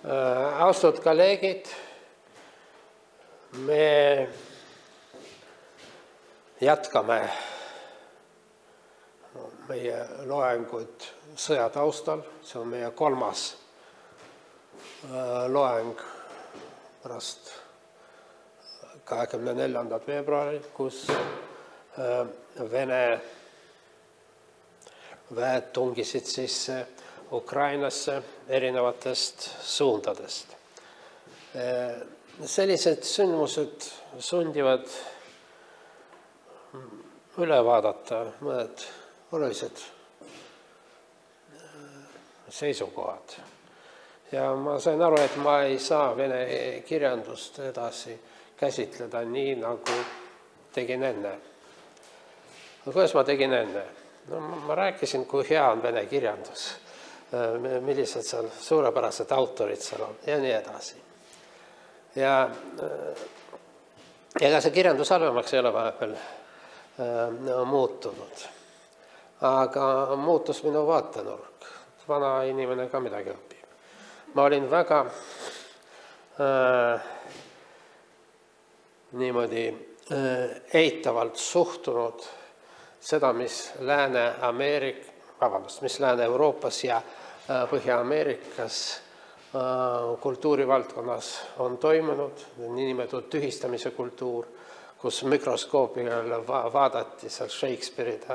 Austatud kolleegid, me jätkame meie loengut sõja taustal. See on meie kolmas loeng pärast 24. veebruari, kus Vene väed tungisid sisse Ukrainasse erinevatest suundadest. Sellised sündmused sundivad üle vaadata mõned olulised seisukohad. Ja ma sain aru, et ma ei saa vene kirjandust edasi käsitleda nii, nagu tegin enne. Kuidas ma tegin enne? No, ma rääkisin, kui hea on vene kirjandus, millised seal suurepärased autorid seal on ja nii edasi. Ja ega see kirjandus halvemaks ei ole vahepeal muutunud. Aga muutus minu vaatenurk. Vana inimene ka midagi õpib. Ma olin väga niimoodi eitavalt suhtunud seda, mis Lääne-Euroopas ja Põhja-Ameerikas kultuurivaldkonnas on toimunud, niinimetatud tühistamise kultuur, kus mikroskoopiga vaadati seal Shakespeare'id,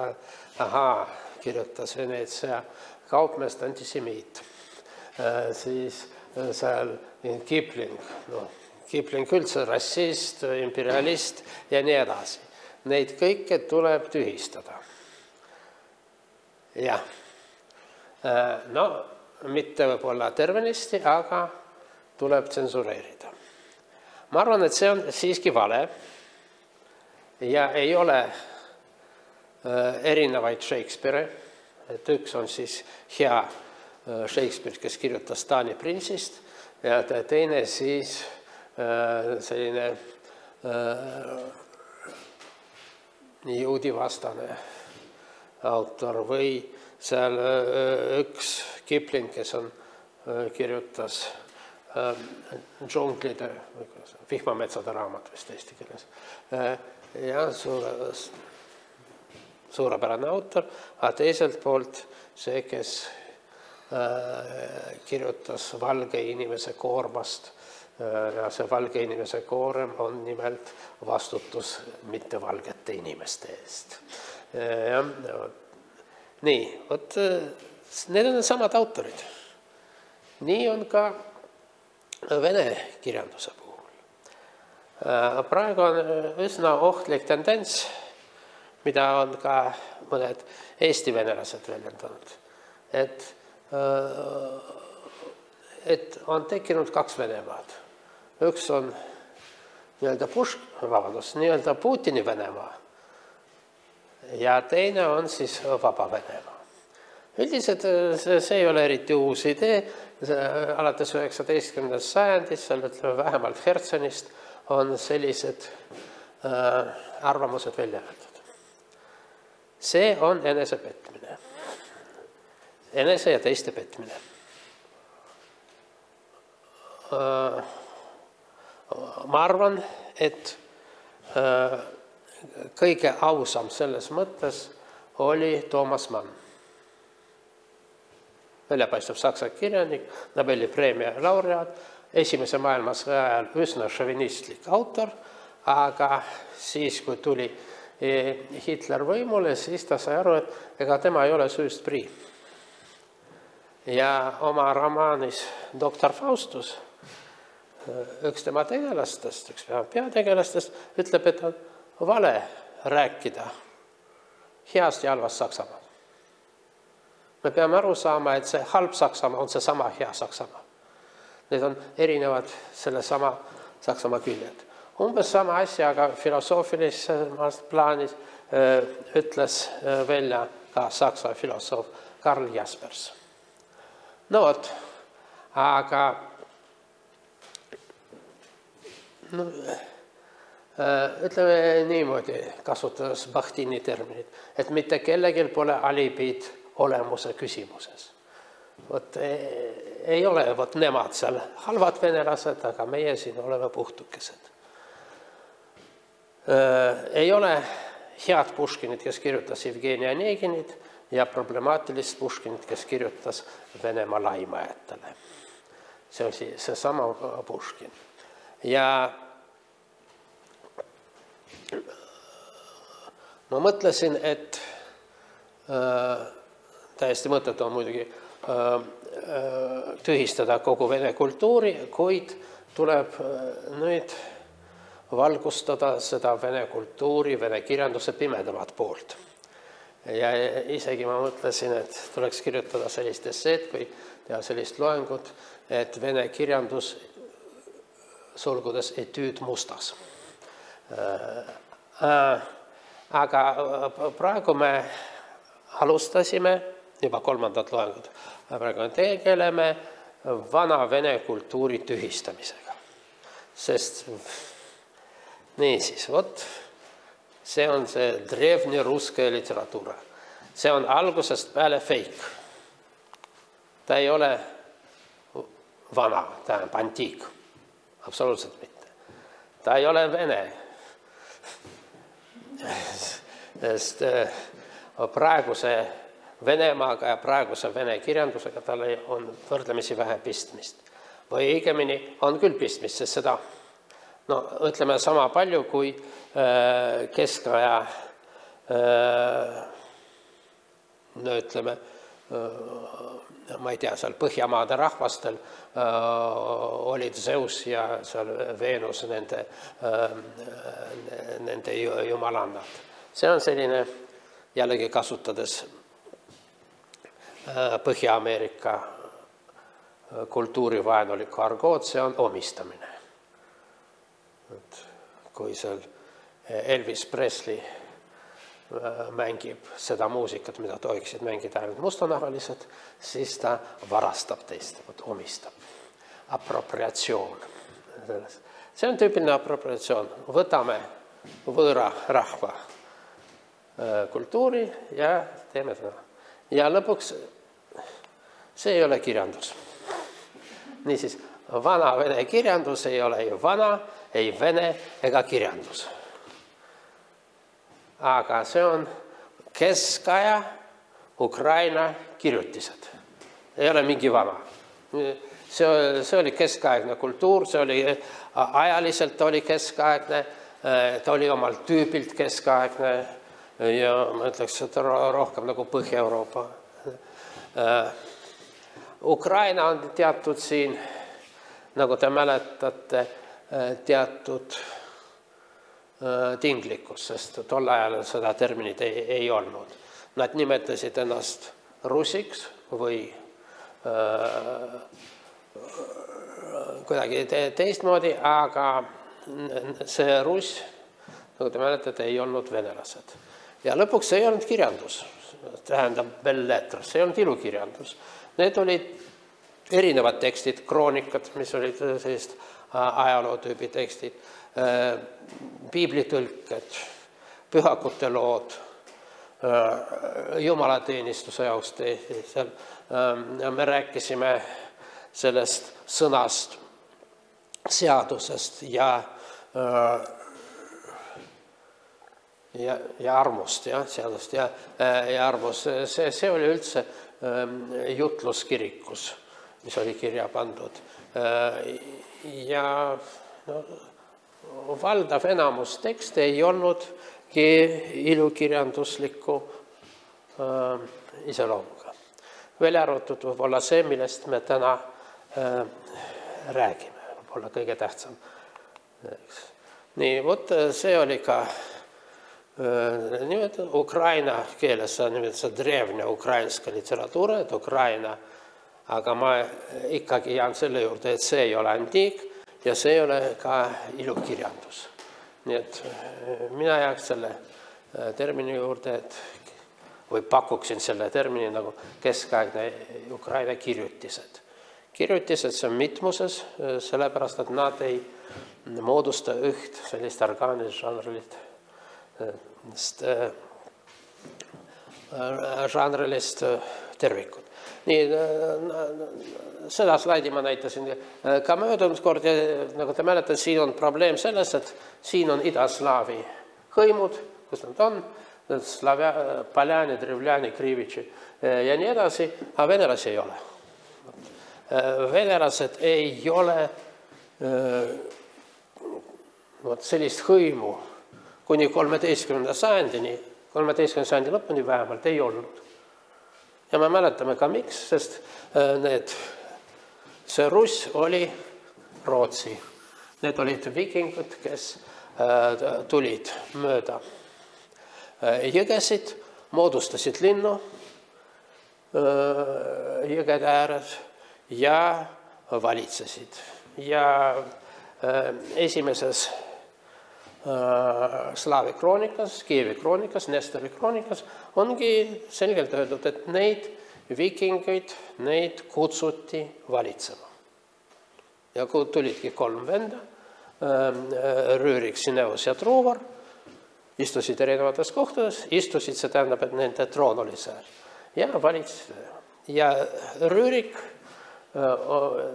kirjutas Veneetsia kaupmeest antisemiit. Siis seal Kipling, Kipling üldse rassist, imperialist ja nii edasi. Neid kõike tuleb tühistada. Jah. No, mitte võib-olla tervenisti, aga tuleb tsensureerida. Ma arvan, et see on siiski vale ja ei ole erinevaid Shakespeare. Et üks on siis hea Shakespeare, kes kirjutas Taani printsist ja teine siis selline juudivastane autor või seal üks Kipling, kes on kirjutas džunglide, vihmametsade raamat vist eesti keeles. Ja suurepärane autor, aga teiselt poolt see, kes kirjutas valge inimese koormast. Ja see valge inimese koorem on nimelt vastutus mitte valgete inimeste eest. Nii, need on samad autorid. Nii on ka vene kirjanduse puhul. Praegu on üsna ohtlik tendents, mida on ka mõned eesti venelased väljendanud, et on tekkinud kaks Venemaad. Üks on nii-öelda Putini Venemaa ja teine on siis vaba Venemaa. Üldiselt see ei ole eriti uus idee. Alates 19. sajandist, vähemalt Hertsenist, on sellised arvamused välja öeldud. See on enese petmine. Enese ja teiste petmine. Ma arvan, et kõige ausam selles mõttes oli Toomas Mann. Väljapaistev saksa kirjanik, Nobeli preemia laureaat, esimese maailmasõja ajal üsna šovinistlik autor, aga siis, kui tuli Hitler võimule, siis ta sai aru, et ega tema ei ole süüst prii. Ja oma romaanis Doktor Faustus üks tema tegelastest, üks peategelastest ütleb, et on vale rääkida heast ja halvast Saksamaad. Me peame aru saama, et see halb Saksamaa on see sama hea Saksamaa. Need on erinevad selle sama Saksamaa küljed. Umbes sama asja, aga filosoofilises plaanis ütles välja ka saksa filosoof Karl Jaspers. No vot, aga ütleme niimoodi, kasutades Bachtini terminit, et mitte kellegil pole alibid olemuse küsimuses. Vot ei ole vot nemad seal halvad venelased, aga meie siin oleme puhtukesed. Ei ole head Puškinit, kes kirjutas Jevgeni Oneginit, ja problemaatilist Puškinit, kes kirjutas Venemaa laimajatele. See on seesama Puškin. Ja ma mõtlesin, et täiesti mõttetu on muidugi tühistada kogu vene kultuuri, kuid tuleb nüüd valgustada seda vene kultuuri, vene kirjanduse pimedamat poolt. Ja isegi ma mõtlesin, et tuleks kirjutada sellist esseed või teha sellist loengut, et vene kirjandus sulgudes etüüd mustas. Aga praegu me alustasime juba 3. loengut. Praegu tegeleme vana vene kultuuri tühistamisega. Sest niisiis, vot see on see drevni ruske literatuura. See on algusest peale fake. Ta ei ole vana, ta on antiik. Absoluutselt mitte. Ta ei ole vene. Sest praeguse Venemaaga ja praeguse vene kirjandusega tal on võrdlemisi vähe pistmist. Või õigemini on küll pistmist, sest seda ütleme sama palju kui keskaja ütleme, ma ei tea, seal Põhjamaade rahvastel olid Zeus ja seal Veenus nende jumalannad. See on selline, jällegi kasutades Põhja-Ameerika kultuurivaenulikku argoot, see on omistamine. Kui seal Elvis Presley mängib seda muusikat, mida tohiksid mängida ainult mustanahalised, siis ta varastab teist, omistab. Apropriatsioon. See on tüüpiline apropriatsioon. Võtame võõra rahva kultuuri ja teeme seda. Ja lõpuks see ei ole kirjandus. Niisiis, vana vene kirjandus ei ole ju vana, ei vene ega kirjandus. Aga see on keskaja Ukraina kirjutised. Ei ole mingi vana. See oli keskaegne kultuur, see oli ajaliselt oli keskaegne, ta oli omal tüübilt keskaegne ja ma ütleks, et rohkem nagu Põhja-Euroopa. Ukraina on teatud siin, nagu te mäletate, teatud tinglikkus, sest tol ajal seda terminit ei olnud. Nad nimetasid ennast russiks või kuidagi teistmoodi, aga see russ, nagu te mäletate, ei olnud venelased. Ja lõpuks see ei olnud kirjandus, tähendab belletras, see ei olnud ilukirjandus. Need olid erinevad tekstid, kroonikad, mis olid sellist ajalootüübi tekstid, piiblitõlked, pühakute lood, jumalateenistuse jaoks seal. Me rääkisime sellest sõnast, seadusest ja armust, seadust ja armust. See oli üldse jutluskirikus, mis oli kirja pandud. Ja valdav enamus tekste ei olnudki ilukirjandusliku iseloomuga. Veel arvatud võib-olla see, millest me täna räägime, võib-olla kõige tähtsam. Nii, vot see oli ka Ukraina keeles, see drevne ukrainska literatuura, et Ukraina, aga ma ikkagi jään selle juurde, et see ei ole antiik ja see ei ole ka ilukirjandus. Nii et mina jääks selle termini juurde, või pakuksin selle termini nagu keskaegne Ukraina kirjutised. Kirjutised see on mitmuses, sellepärast, et nad ei moodusta üht sellist orgaanilist žanrilist tervikud. Nii, seda slaidi ma näitasin ka möödunud kord ja nagu te mäletate, siin on probleem selles, et siin on idaslaavi hõimud, kus nad on, Poljani, Drevljani, Krivitši ja nii edasi, aga venelasi ei ole. Venelased ei ole sellist hõimu kuni 13. sajandini, 13. sajandi lõpuni vähemalt ei olnud. Ja me mäletame ka miks, sest see Russ oli Rootsi. Need olid vikingud, kes tulid mööda jõgesid, moodustasid linnu jõgede ääres ja valitsesid. Ja esimeses Slaavi kroonikas, Kiievi kroonikas, Nestori kroonikas ongi selgelt öeldud, et neid vikingeid, neid kutsuti valitsema. Ja kui tulidki 3 venda, Rüürik, Sineus ja Truuvar, istusid erinevates kohtades, istusid, see tähendab, et nende troon oli seal. Ja valitsesid. Ja Rüürik,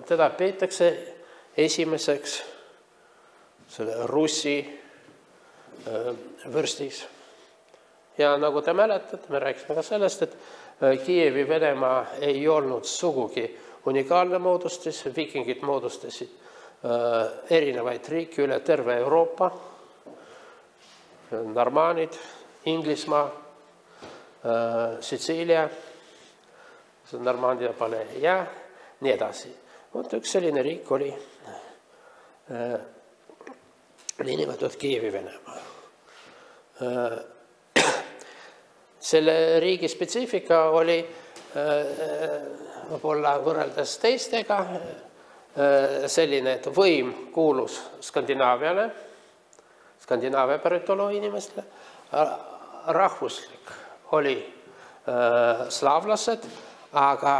teda peetakse esimeseks selle Russi võrstis. Ja nagu te mäletate, me rääkisime ka sellest, et Kiievi Venemaa ei olnud sugugi unikaalne moodustis, vikingid moodustasid erinevaid riike üle terve Euroopa, Normaanid, Inglismaa, Sitsiilia, Normandia pale ja nii edasi. Üks selline riik oli nimetatud Kiievi Venemaa. Selle riigi spetsiifika oli võib-olla võrreldes teistega selline, et võim kuulus Skandinaaviale, Skandinaavia päritolu inimestele, rahvuslik oli slaavlased, aga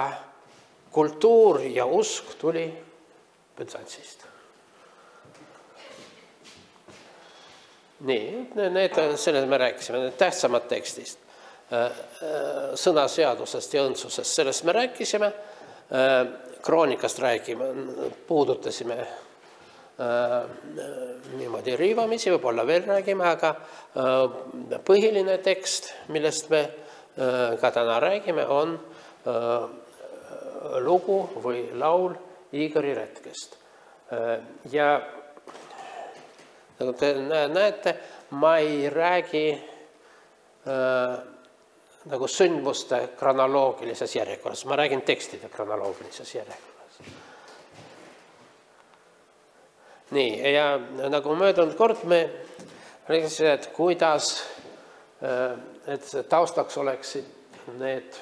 kultuur ja usk tuli Büsantsist. Nii, sellest me rääkisime, tähtsamad tekstist, sõnaseadusest ja õndsusest, sellest me rääkisime, kroonikast räägime, puudutasime niimoodi riivamisi, võib-olla veel räägime, aga põhiline tekst, millest me ka täna räägime, on lugu või laul Igori retkest. Ja nagu te näete, ma ei räägi nagu sündmuste kronoloogilises järjekorras, ma räägin tekstide kronoloogilises järjekorras. Nii, ja nagu möödunud kord me rääkisime, et kuidas, et taustaks oleksid need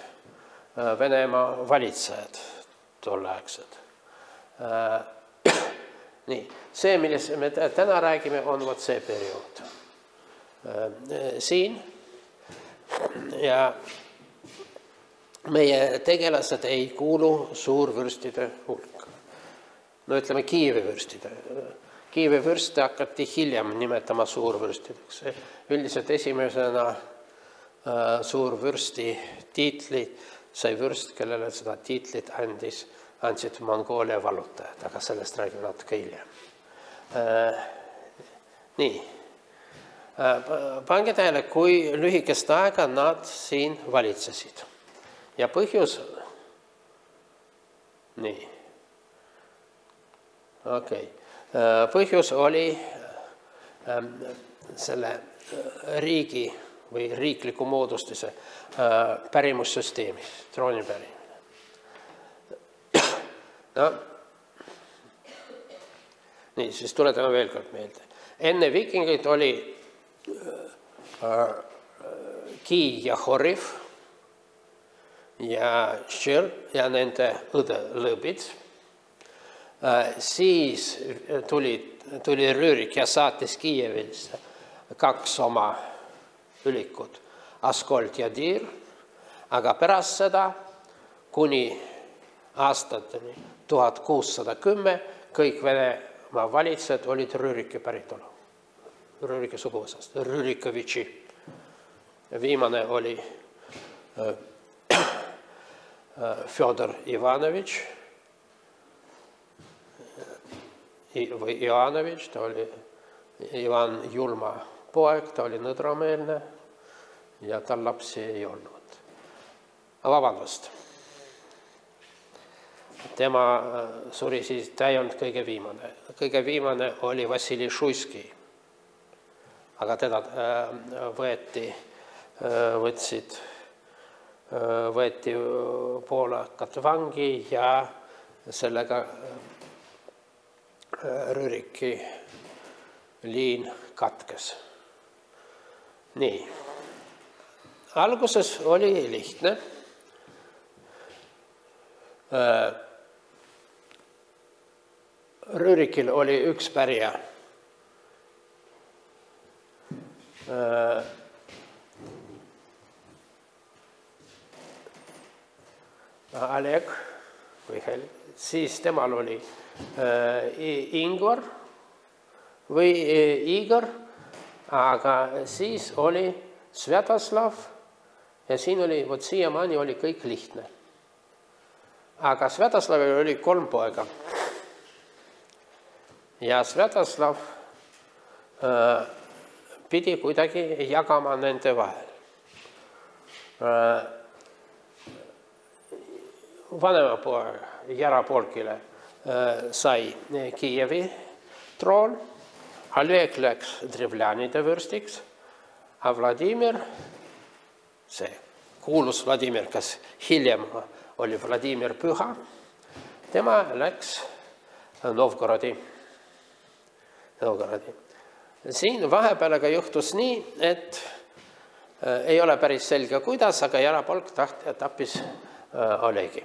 Venemaa valitsejad tolleaegsed. Nii, see, millest me täna räägime, on vot see periood. Siin ja meie tegelased ei kuulu suurvürstide hulka. No ütleme Kiievi vürstide. Kiievi vürste hakati hiljem nimetama suurvürstideks. Üldiselt esimesena suurvürsti tiitli sai vürst, kellele seda tiitlit andsid Mongoolia vallutajad, aga sellest räägime natuke hiljem. Nii, pange tähele, kui lühikest aega nad siin valitsesid. Ja põhjus, nii, okei. Põhjus oli selle riigi või riikliku moodustise pärimussüsteemis, trooni pärimine. No, nii, siis tuletame veel kord meelde. Enne vikingid oli Ki ja Horiv ja Šir ja nende õde Lõbid. Siis tuli Rüürik ja saatis Kiievisse 2 oma ülikut, Askold ja Dir, aga pärast seda kuni aastateni 1610 kõik Venemaa valitsejad olid Rüürike päritolu, Rüürike suguvõsast, Rüürikovitši. Viimane oli Fjodor Ivanovitš või Ivanovitš, ta oli Ivan julma poeg, ta oli nõdrameelne ja tal lapsi ei olnud. Vabandust. Tema suri siis, ta ei olnud kõige viimane. Kõige viimane oli Vassili Šuiski. Aga teda võeti poolakad vangi ja sellega Rüriki liin katkes. Nii. Alguses oli lihtne. Rürikil oli üks pärija. Oleg Mihhail, siis temal oli Ingvar või Igor, aga siis oli Svjatoslav ja siin oli, vot siiamaani oli kõik lihtne. Aga Svjatoslavil oli 3 poega. Ja Svjatoslav pidi kuidagi jagama nende vahel. Vanema poeg Jarapolkile sai Kiievi troon, Oleg läks Drevljanide vürstiks, a Vladimir, see kuulus Vladimir, kes hiljem oli Vladimir Püha, tema läks Novgorodi. Siin vahepealega juhtus nii, et ei ole päris selge kuidas, aga Jarapolk tappis Olegi.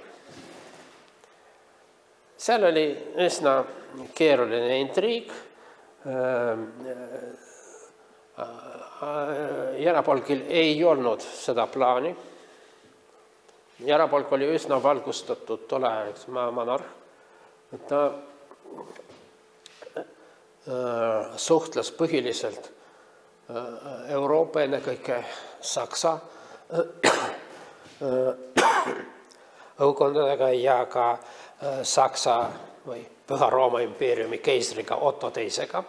Seal oli üsna keeruline intriig. Jarapolkil ei olnud seda plaani. Jarapolk oli üsna valgustatud tolleaegseks monarh. Ta suhtles põhiliselt Euroopa, ennekõike Saksa õukondadega ja ka Saksa või Püha Rooma impeeriumi keisriga Otto teisega.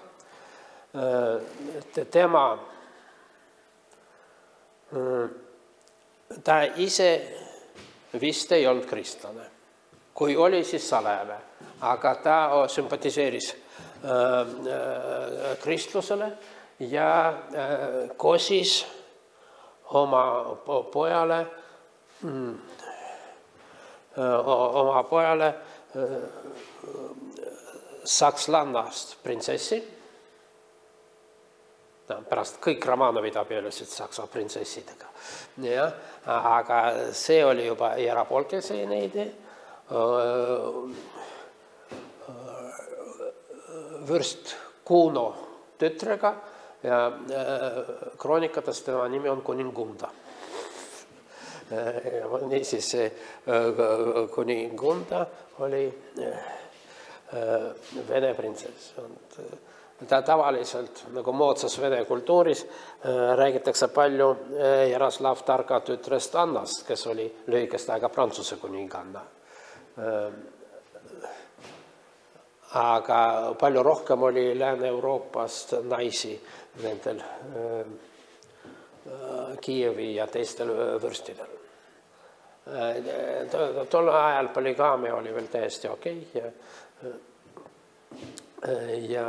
Ta ise vist ei olnud kristlane. Kui oli, siis salajane. Aga ta sümpatiseeris kristlusele ja kosis oma pojale sakslannast printsessi. Pärast kõik Romanovid abiellusid saksa printsessidega. Aga see oli juba Jarapolkese idee. Vürst Kuno tütrega ja kroonikates tema nimi on Kuningunda. Niisiis Kuningunda oli Vene printsess. Ta tavaliselt, nagu moodsas Vene kultuuris, räägitakse palju Jaroslav Targa tütrest Annast, kes oli lühikest aega Prantsuse kuninganna. Aga palju rohkem oli Lääne-Euroopast naisi nendel Kiievi ja teistel vürstidel. Tol ajal poligaamia oli veel täiesti okei ja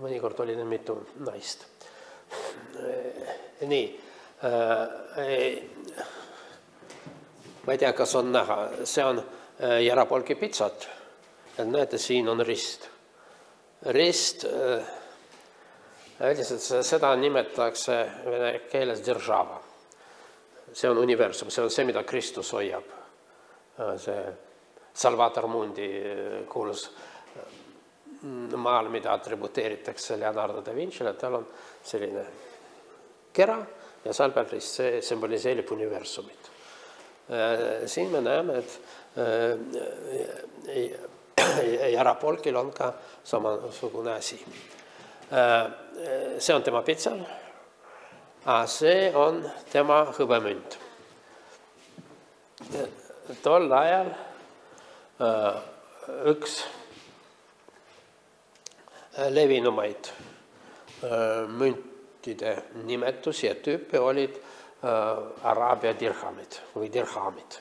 mõnikord oli neil mitu naist. Nii. Ma ei tea, kas on näha. See on Jarapolki pitsat. Näete, siin on rist. Rist, seda nimetatakse vene keeles держава. See on universum, see on see, mida Kristus hoiab. See Salvator Mundi kuulus maal, mida atributeeritakse Leonardo da Vincile, tal on selline kera ja seal peal rist, see symboliseerib universumit. Siin me näeme, et Jarapolkil on ka samasugune asi. See on tema pitsal, see on tema hõbemünt. tol ajal üks levinumaid müntide nimetusi ja tüüpe olid araabia dirhamid või dirhamid.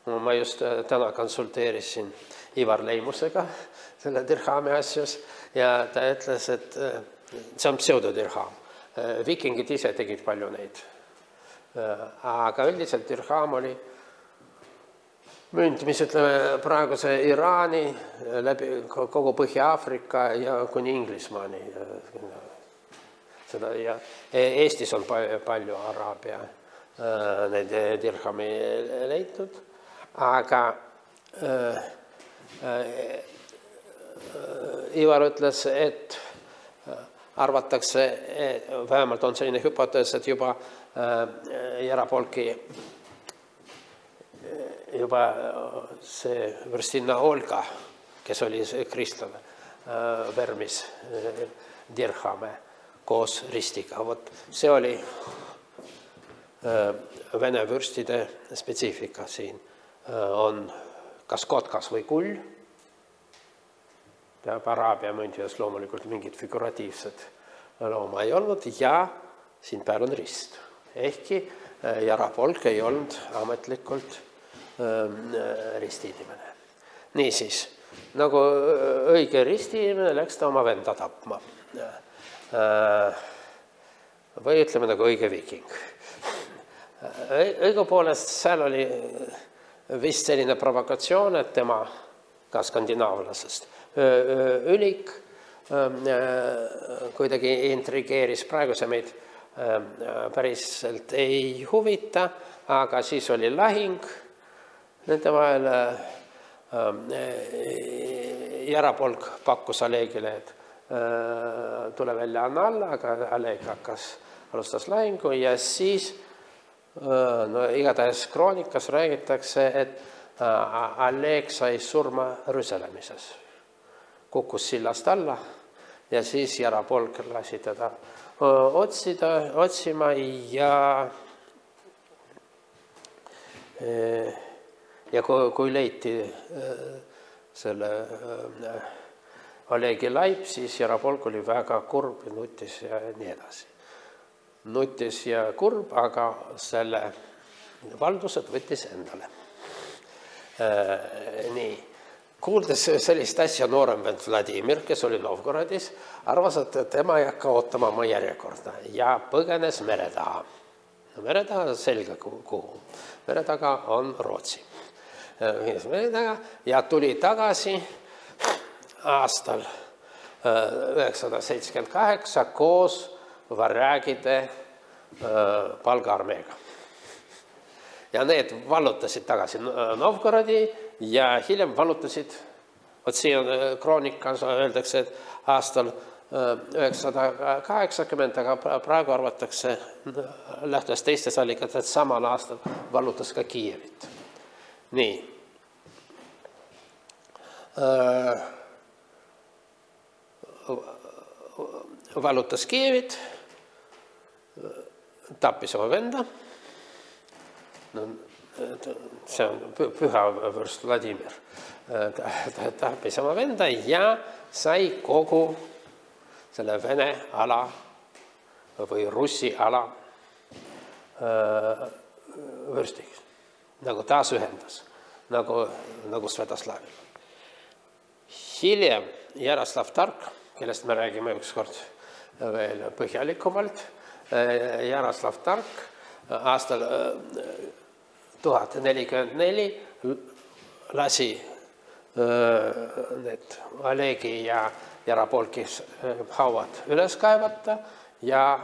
Ma just täna konsulteerisin Ivar Leimusega selle dirhami asjus ja ta ütles, et see on pseudodirham. Vikingid ise tegid palju neid. Aga üldiselt dirham oli münt, mis ütleme praeguse Iraani läbi kogu Põhja-Aafrika ja kuni Inglismaani. Ja Eestis on palju araabia neid dirhami leitud, aga Ivar ütles, et arvatakse, vähemalt on selline hüpotees, et juba Jarapolki juba see võrstinna Olga, kes oli kristlane, vermis dirhame koos ristiga. Vot see oli vene vürstide spetsiifika siin. On kas kotkas või kull. Araabia müntides loomulikult mingit figuratiivset looma ei olnud ja siin peal on rist. Ehkki Jarapolk ei olnud ametlikult ristiinimene. Niisiis, nagu õige ristiinimene läks ta oma venda tapma. Või ütleme nagu õige viking. Õigupoolest seal oli vist selline provokatsioon, et tema ka skandinaavlasest ülik kuidagi intrigeeris. Praegu see meid päriselt ei huvita, aga siis oli lahing nende vahel. Jarapolk pakkus Allegile, et tule välja, anna alla, aga Alleg alustas lahingu ja siis igatahes kroonikas räägitakse, et Alleg sai surma rüselemises. Kukkus sillast alla ja siis Jarapolk lasi teda otsima ja kui leiti selle Allegi laip, siis Jarapolk oli väga kurb ja nutis ja nii edasi. Nutis ja kurb, aga selle valdused võttis endale. Nii. Kuuldes sellist asja noorem vend Vladimir, kes oli Novgorodis, arvas, et tema ei hakka ootama oma järjekorda ja põgenes mere taha. Mere taha selge kuhu. Mere taga on Rootsi. Ja tuli tagasi aastal 978 koos varjagide palgaarmeega. Ja need vallutasid tagasi Novgorodi ja hiljem vallutasid, siin kroonikas öeldakse, et aastal 980, aga praegu arvatakse, lähtudes teistes allikad, et samal aastal vallutas ka Kiievit. Nii. Vallutas Kiievit, tappis oma venda. See on püha vürst Vladimir. Tappis oma venda ja sai kogu selle vene ala või russi ala vürstiks. Nagu taas ühendas, nagu Svetoslavil. Hiljem Jaroslav Tark, kellest me räägime ükskord veel põhjalikumalt, Jaroslav Tark aastal 1044 lasi need Allegi ja Jarapolki hauad üles kaevata ja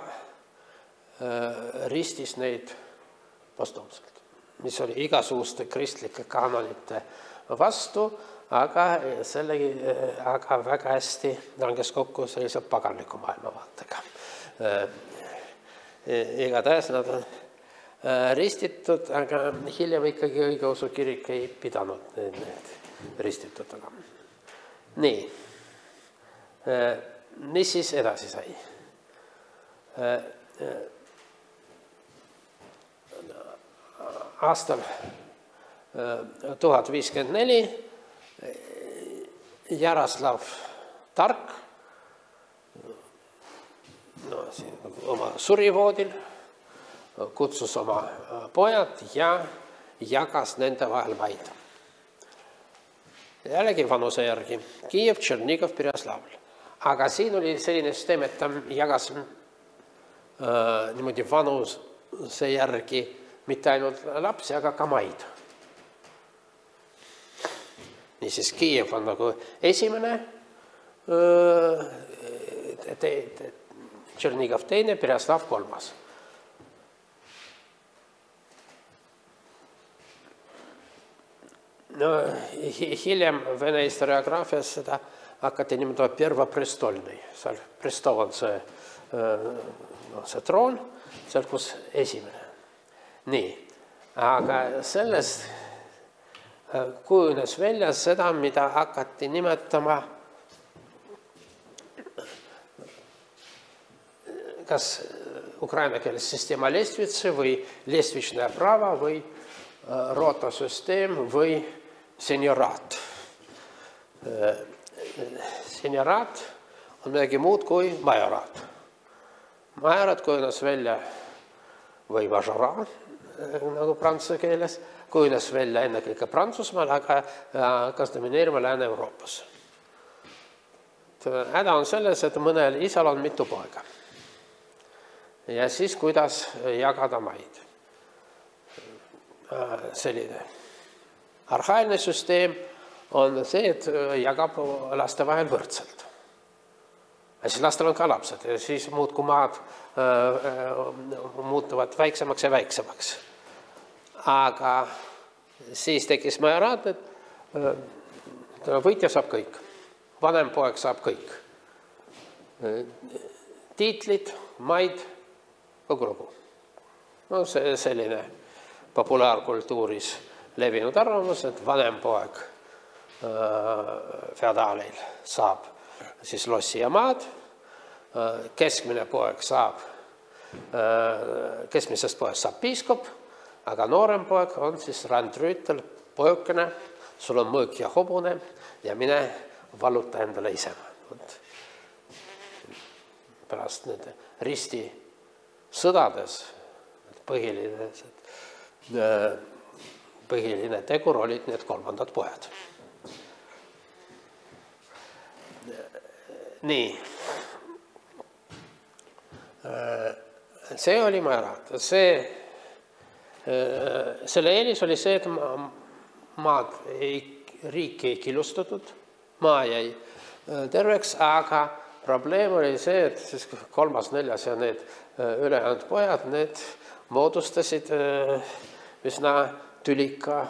ristis neid postuumselt, mis oli igasuguste kristlike kanonite vastu, aga väga hästi langes kokku sellise paganliku maailmavaatega. Igatahes nad on ristitud, aga hiljem ikkagi õigeusu kirik ei pidanud need ristitutega. Nii. Mis siis edasi sai? aastal 1054 Jaroslav Tark oma surivoodil kutsus oma pojad ja jagas nende vahel maid. Jällegi vanuse järgi. Kiiev, Tšernigov, Pereslavl. Aga siin oli selline süsteem, et ta jagas niimoodi vanuse järgi mitte ainult lapsi, aga ka maid. Niisiis Kiiev on nagu esimene, Tšernigov teine, Pereslav kolmas. No, hiljem Vene historiograafias seda hakati niimoodi Pervoprestolnõi. Seal prestol on see troon, seal kus esimene. Nii, aga sellest kujunes välja seda, mida hakati nimetama kas ukraina keeles süsteema lestvitsi või lestvitšne prava või rotasüsteem või senioraat. Senioraat on midagi muud kui majoraat. Majoraat kujunes välja või majoraat, nagu prantsuse keeles, kujunes välja ennekõike Prantsusmaal, aga hakkas domineerima Lääne-Euroopas. Häda on selles, et mõnel isal on mitu poega. Ja siis kuidas jagada maid. Selline arhailine süsteem on see, et jagab laste vahel võrdselt. Ja siis lastel on ka lapsed ja siis muudkui maad muutuvad väiksemaks ja väiksemaks. Aga siis tekkis majoraat, et võitja saab kõik. Vanem poeg saab kõik. Tiitlid, maid, kogu lugu. No see selline populaarkultuuris levinud arvamus, et vanem poeg feodaalil saab siis lossi ja maad, keskmine poeg saab, keskmisest poest saab piiskop, aga noorem poeg on siis randrüütel, pojukene, sul on mõõk ja hobune ja mine valuta endale ise. Pärast need risti sõdades põhiline tegur olid need kolmandad pojad. Nii. See oli majoraat. Selle eelis oli see, et maad riiki ei killustatud, maa jäi terveks, aga probleem oli see, et siis kolmas, neljas ja need ülejäänud pojad, need moodustasid üsna tülika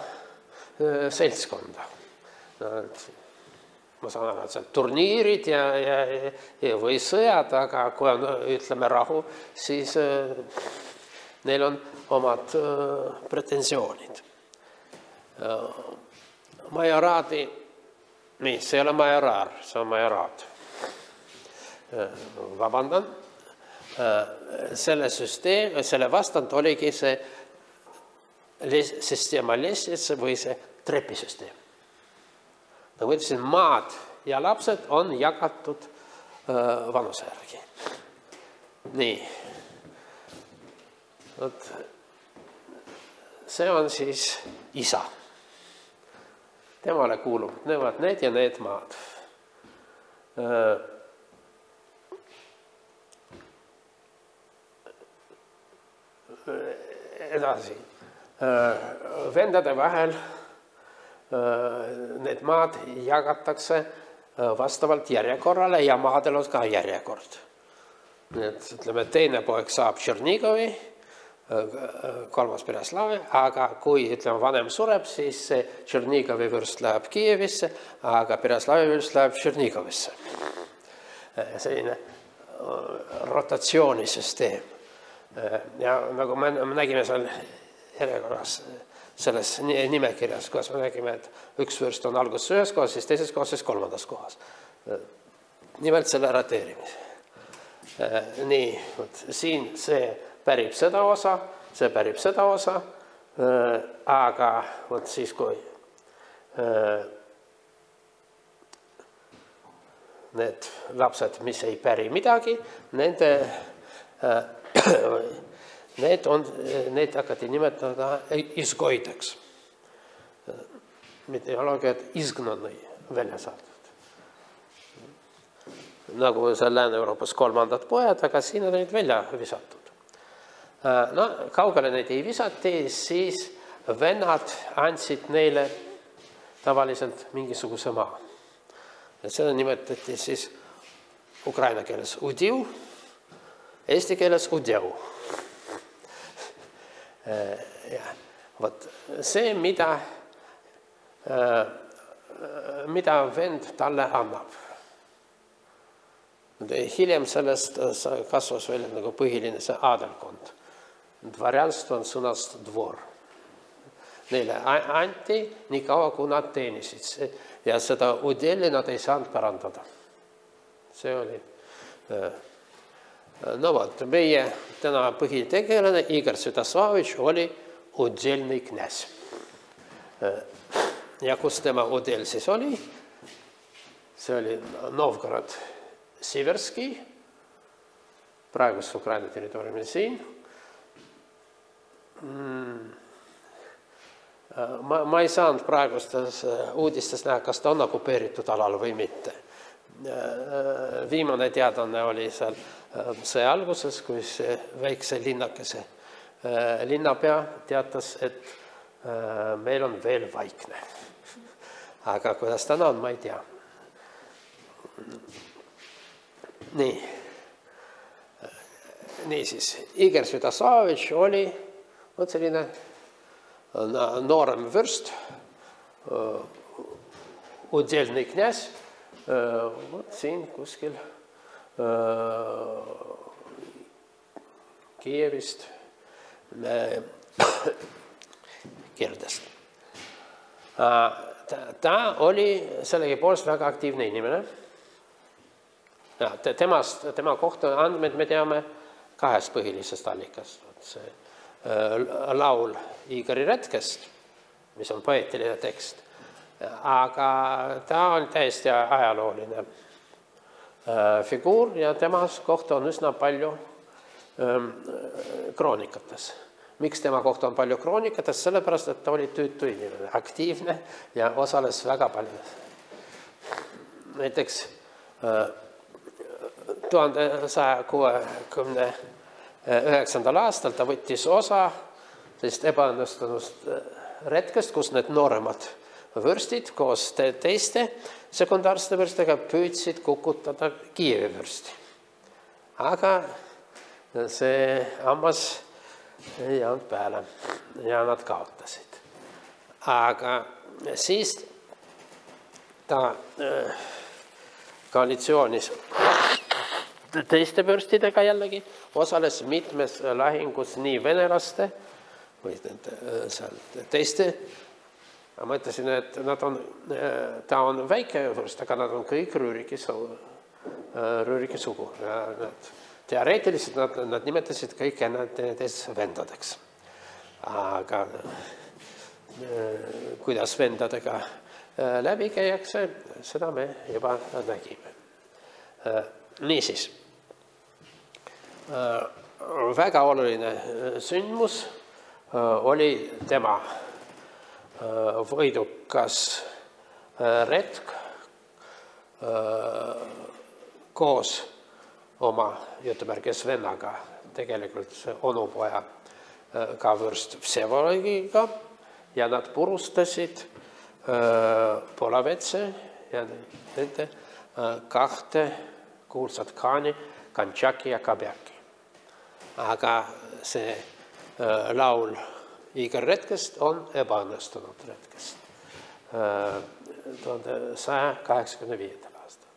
seltskonda. Ma saan aru, et seal turniirid või sõjad, aga kui on, ütleme, rahu, siis neil on omad pretensioonid. Majoraadi, nii, see ei ole majoraar, see on majoraat. Vabandan. Selle vastand oligi see süsteema lestvitsa või see trepisüsteem. Nagu ütlesin, maad ja lapsed on jagatud vanuse järgi. Nii. See on siis isa. Temale kuulub need ja need maad. Edasi. Vendade vahel need maad jagatakse vastavalt järjekorrale ja maadel on ka järjekord. Ütleme, teine poeg saab Tšernigovi, kolmas Pereslavi, aga kui vanem sureb, siis see Tšernigovi vürst läheb Kiievisse, aga Pereslavi vürst läheb Tšernigovisse. Selline rotatsioonisüsteem. Ja nagu me nägime seal järjekorras selles nimekirjas, kuidas me nägime, et üks vürst on alguses ühes kohas, siis teises kohas, siis kolmandas kohas. Nimelt selle rateerimise. Nii, siin see pärib seda osa, see pärib seda osa, Aga vot siis, kui need lapsed, mis ei päri midagi, need hakati nimetada izgoideks. Ideoloogiad izgnanõi välja saadud. Nagu see Lääne-Euroopas kolmandad pojad, aga siin on neid välja visatud. No, kaugele neid ei visati, siis vennad andsid neile tavaliselt mingisuguse maa. Ja seda nimetati siis ukraina keeles udiu, eesti keeles udjau. Vot see, mida vend talle annab. Hiljem sellest kasvas välja nagu põhiline see aadelkond. Dvarjanstvo on sõnast dvor. Neile anti nii kaua, kui nad teenisid. Ja seda udeli nad ei saanud parandada. See oli. No vot, meie täna põhitegelane Igor Sviatoslavitš oli udelnõi kňaz. Ja kus tema udel siis oli? See oli Novgorod Siverski, praegust Ukraina territooriumil siin. Ma ei saanud praegustes uudistes näha, kas ta on okupeeritud alal või mitte. Viimane teadane oli seal see alguses, kui see väikse linnakese linnapea teatas, et meil on veel vaikne. Aga kuidas täna on, ma ei tea. Nii siis, Igor Sviatoslavitš oli selline noorem vürst, udelnõi kňaz, siin kuskil Kiievist Kirdest. Ta oli sellegipoolest väga aktiivne inimene. Tema kohta andmed me teame kahest põhilisest allikast. See laul Igori Retkest, mis on poeetiline tekst, aga ta on täiesti ajalooline figuur ja temas kohta on üsna palju kroonikates. Miks tema kohta on palju kroonikates? Sellepärast, et ta oli tüütu inimene, aktiivne ja osales väga palju. Näiteks 1169. aastal ta võttis osa sellist ebaõnnestunust retkest, kus need nooremad vürstid koos teiste sekundaarsete vürstidega püüdsid kukutada Kiievi vürsti. Aga see hammas ei olnud peale ja nad kaotasid. Aga siis ta koalitsioonis teiste vürstidega jällegi osales mitmes lahingus nii venelaste või teiste. Ma mõtlesin, et ta on väike vürst, aga nad on kõik Rüüriki sugu. Teoreetiliselt nad nimetasid kõik ennast vendadeks. Aga kuidas vendadega läbi käiakse, seda me juba nägime. Niisiis, väga oluline sündmus oli tema võidukas retk koos oma jutumärkes vennaga, tegelikult onupoja ka vürst Vsevolodiga ja nad purustasid Polavetse ja nende kahte kuulsat khaani, Kantšaki ja Kabjaki. Aga see laul Igor Retkest on ebaõnnestunud retkest 1185. aastal.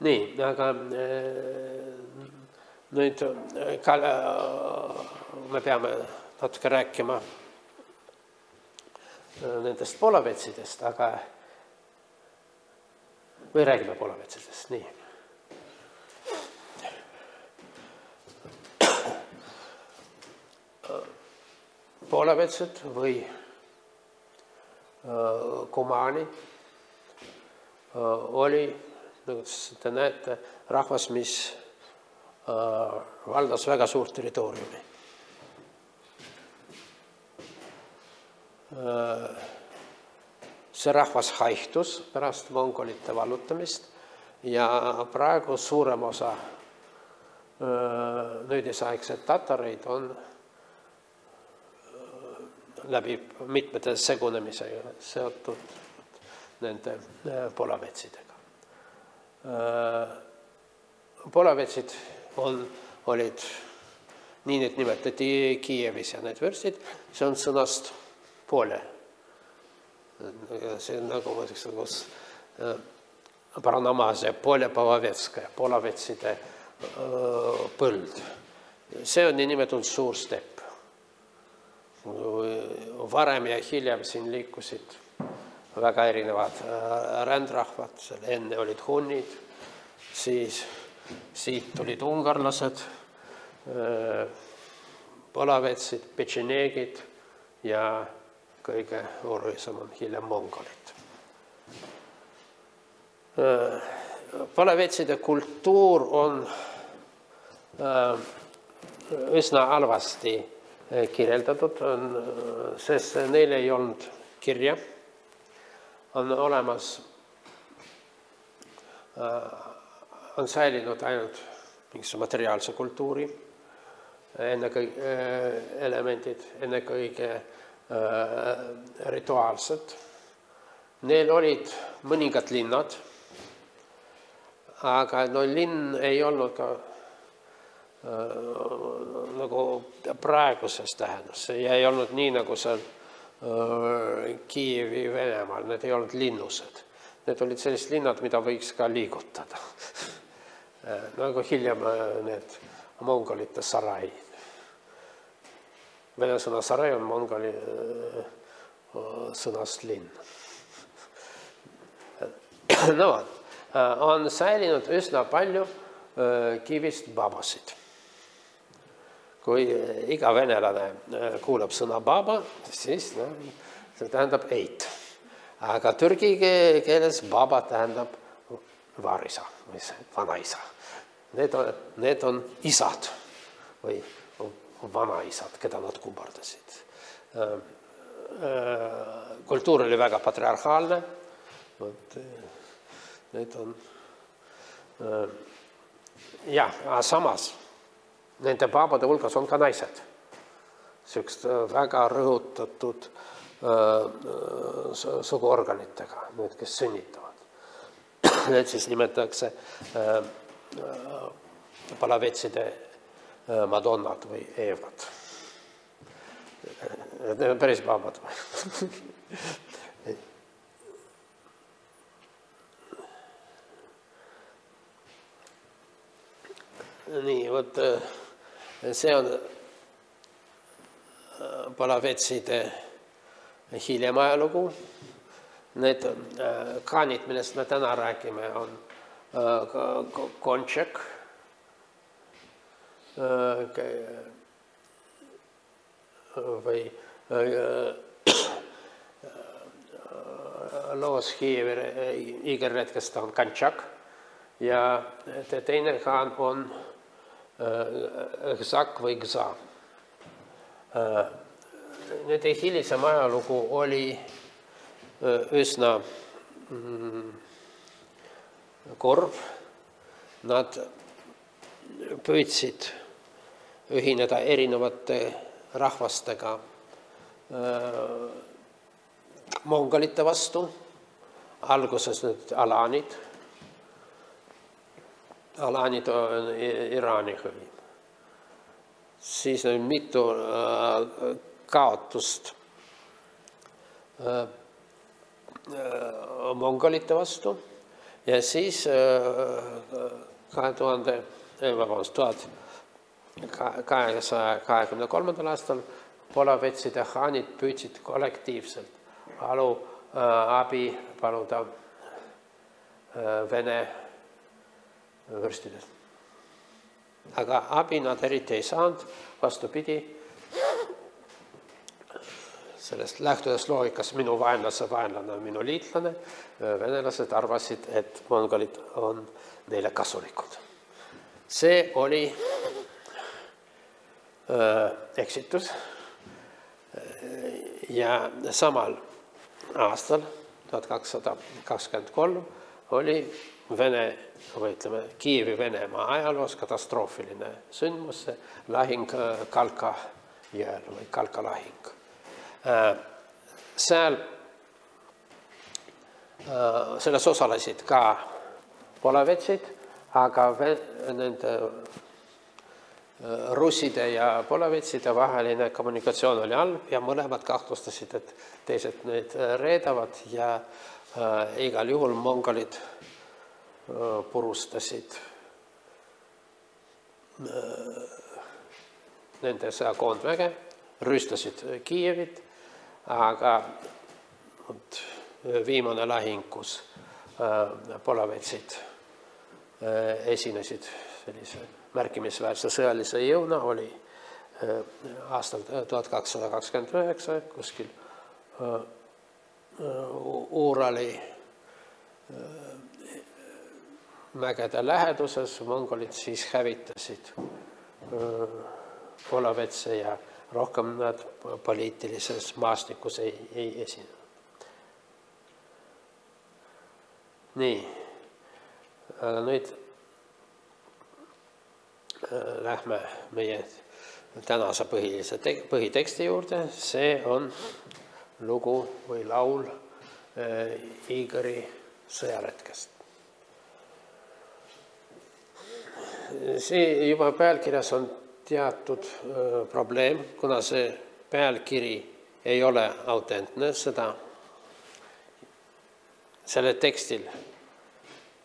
Nii, aga nüüd me peame natuke rääkima nendest polavetsidest, aga või räägime polavetsidest, nii. poolevetsed või kumaani oli, nagu te näete, rahvas, mis valdas väga suurt territooriumi. See rahvas haihtus pärast mongolite vallutamist ja praegu suurem osa nüüdisaegseid tatareid on läbi mitmete segunemisega seotud nende polavetsidega. Polavetsid olid, nii need nimetati Kiievis ja need vürstid, see on sõnast poole. See on nagu Baranamazia, Pole-Polavetskaja, polavetside põld. See on nii nimetatud suur stepp. Varem ja hiljem siin liikusid väga erinevad rändrahvad, enne olid hunnid, siis siit tulid ungarlased, polavetsid, petšeneegid ja kõige olulisem on hiljem mongolid. Polavetside kultuur on üsna halvasti kirjeldatud, sest neil ei olnud kirja. On olemas, on säilinud ainult mingisuguse materiaalse kultuuri elemendid, ennekõike rituaalsed. Neil olid mõningad linnad, aga no linn ei olnud ka nagu praeguses tähenduses. See ei olnud nii, nagu seal Kiievi Venemaal, need ei olnud linnused. Need olid sellised linnad, mida võiks ka liigutada. Nagu hiljem need mongolite sarai. Vene sõna sarai on mongoli sõnast linn. No, on säilinud üsna palju kivist babasid. Kui iga venelane kuulab sõna baba, siis see tähendab eit. Aga türgi keeles baba tähendab vaarisa või vanaisa. Need on isad või vanaisad, keda nad kummardasid. Kultuur oli väga patriarhaalne. Need on... samas nende baabade hulgas on ka naised. Süüksed väga rõhutatud suguorganitega, need, kes sünnitavad. Need siis nimetatakse palavetside madonnad või eevad. Need on päris baabad. Nii, vot see on palavetside hiljem ajalugu. Need kaanid, millest me täna räägime, on kontšek, või loos igerretkest on kantšak ja teine kaan on gzak või gza. Nende hilisem ajalugu oli üsna korv. Nad püüdsid ühineda erinevate rahvastega mongolite vastu. Alguses need alaanid. Alaanid on Iraani hõim. Siis on mitu kaotust mongolite vastu ja siis 1223. aastal polavetside haanid püüdsid kollektiivselt abi paluda Vene vürstidest. Aga abi nad eriti ei saanud, vastupidi, sellest lähtudes loogikast minu vaenlase vaenlane on minu liitlane, venelased arvasid, et mongolid on neile kasulikud. See oli eksitus ja samal aastal 1223 oli Vene või ütleme Kiievi Venemaa ajaloos katastroofiline sündmus, lahing Kalka jõel või Kalka lahing. Selles osalesid ka polavetsid, aga nende russide ja polavetside vaheline kommunikatsioon oli halb ja mõlemad kahtlustasid, et teised neid reedavad ja igal juhul mongolid purustasid nende sõjakoondväge, rüüstasid Kiievit, aga viimane lahing, kus polavetsid esinesid sellise märkimisväärse sõjalise jõuna, oli aastal 1229 kuskil Uurali mägede läheduses. Mongolid siis hävitasid polavetse ja rohkem nad poliitilises maastikus ei esinenud. Nii, nüüd lähme meie tänase põhiteksti juurde. See on lugu või laul Igori sõjaretkest. See juba pealkirjas on teatud probleem, kuna see pealkiri ei ole autentne, selle tekstil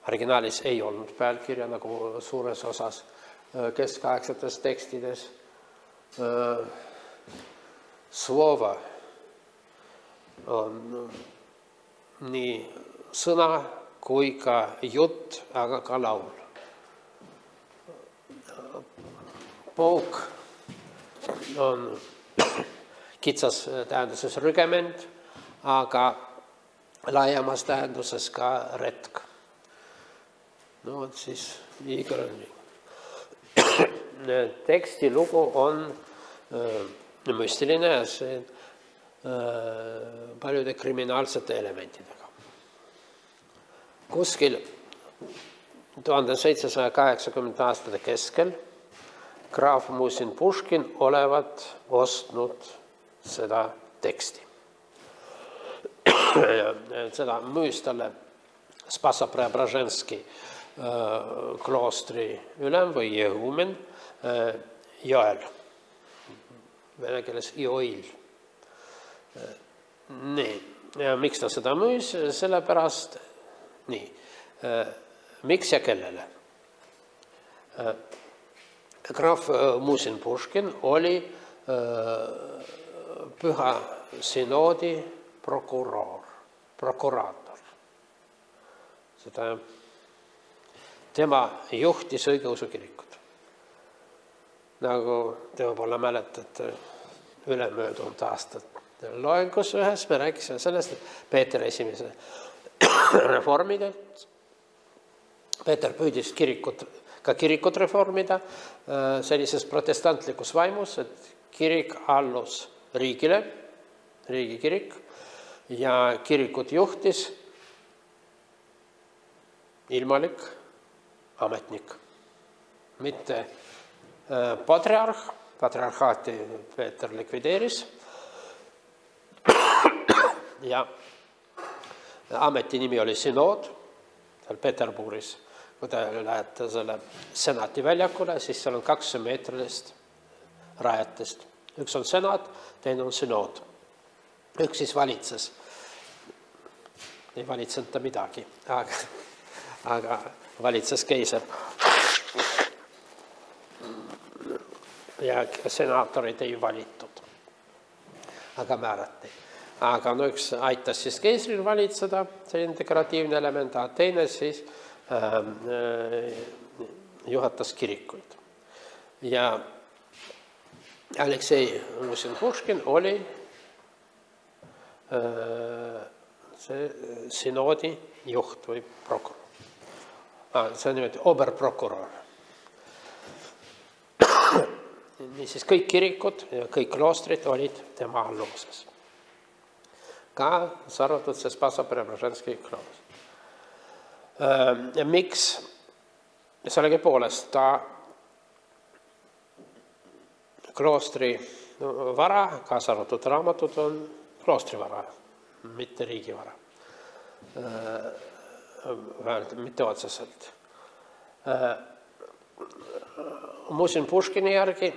originaalis ei olnud pealkirja nagu suures osas keskaegsetes tekstides. Slova on nii sõna kui ka jutt, aga ka laul. Pouk on kitsas tähenduses rügement, aga laiemas tähenduses ka retk. No vot siis Igor on nii. Teksti lugu on müstiline ja see paljude kriminaalsete elementidega. Kuskil 1780 aastate keskel graaf Musin Puškin olevat ostnud seda teksti. Seda müüs talle Spassa-Preobraženski kloostri ülem või jehumen Joel, vene keeles Joil. Nii, ja miks ta seda müüs? Sellepärast, nii, miks ja kellele? Graaf Musin Puškin oli Püha Synoodi prokuraator. Tema juhtis õigeusu kirikut. Nagu te võib-olla mäletate ülemöödunud aastat loengus ühes, me rääkisime sellest, et Peeter esimese reformida. Peeter püüdis ka kirikut reformida sellises protestantlikus vaimus, et kirik allus riigile, riigikirik, ja kirikut juhtis ilmalik ametnik, mitte patriarh, patriarhaati Peeter likvideeris ja ameti nimi oli Synood seal Peterburis. Kui te lähete selle senati väljakule, siis seal on 2 meetrilist rajatist. Üks on senat, teine on Synood. Üks siis valitses. Ei valitsenud ta midagi, aga valitses keiser. Ja senaatorid ei valitud, aga määrati. Aga üks aitas siis keisril valitseda, selline dekoratiivne element, aga teine siis juhatas kirikuid. Ja Aleksei Musin Puškin oli see synoodi juht või prokurör. See on niimoodi oberprokurör. Niisiis kõik kirikud ja kõik kloostrid olid tema alluvuses. Ka arvatud see Spasa-Preobrazhenski kloos. Miks? Sellegipoolest ta kloostri vara, kaasa arvatud raamatud, on kloostri vara, mitte riigi vara. Mitte otseselt. Muuseum Puškini järgi,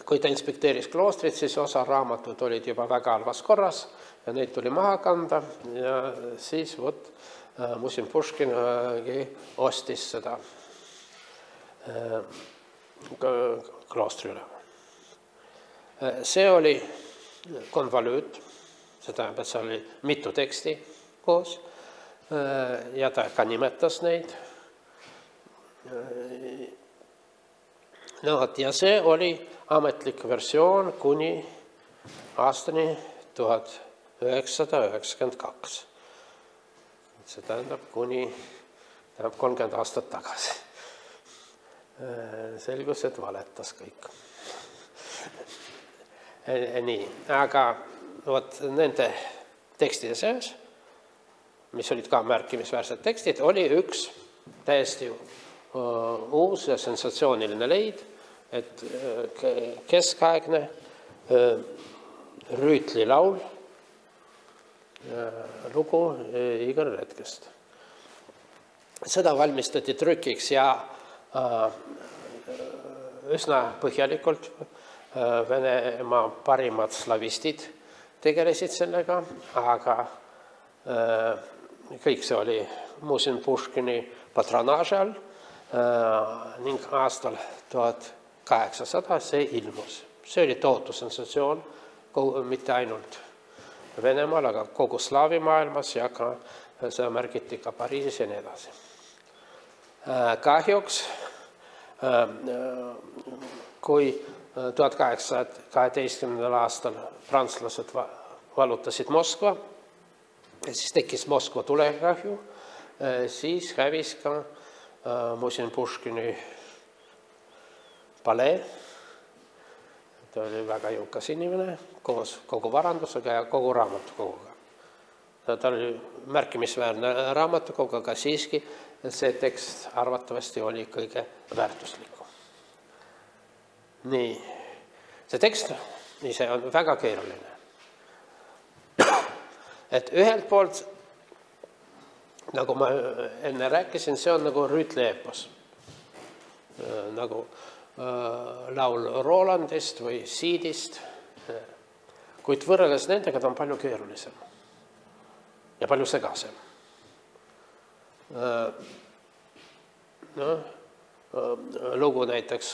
kui ta inspekteeris kloostrit, siis osa raamatud olid juba väga halvas korras ja neid tuli maha kanda ja siis Muuseum Puškin ostis seda kloostri üle. See oli konvolüüt, see tähendab, et see oli mitu teksti koos ja ta ka nimetas neid. Ja see oli ametlik versioon kuni aastani 1992. See tähendab kuni 30 aastat tagasi. Selgus, et valetas kõik. Nii, aga nende tekstide seas, mis olid ka märkimisväärsed tekstid, oli üks täiesti uus ja sensatsiooniline leid, et keskaegne Rüütli laul, lugu Igor Retkest. Seda valmistati trükiks ja üsna põhjalikult Venemaa parimad slavistid tegelesid sellega, aga kõik see oli Muuseum Puškini patronaaži all ning aastal 1800 see ilmus. See oli tohutu sensatsioon, mitte ainult Venemaal, aga kogu slaavi maailmas ja ka see märgiti ka Pariisis ja nii edasi. Kahjuks, kui 1812. aastal prantslased vallutasid Moskva, siis tekkis Moskva tulekahju, siis hävis ka Muuseum Puškini palee. Ta oli väga jõukas inimene koos kogu varandusega ja kogu raamatukoguga. Ta oli märkimisväärne raamatukogu, aga siiski see tekst arvatavasti oli kõige väärtuslikum. Nii, see tekst ise on väga keeruline. Et ühelt poolt, nagu ma enne rääkisin, see on nagu Rüütli eepos. Nagu laul Rolandist või Siidist, kuid võrreldes nendega ta on palju keerulisem ja palju segasem. Lugu näiteks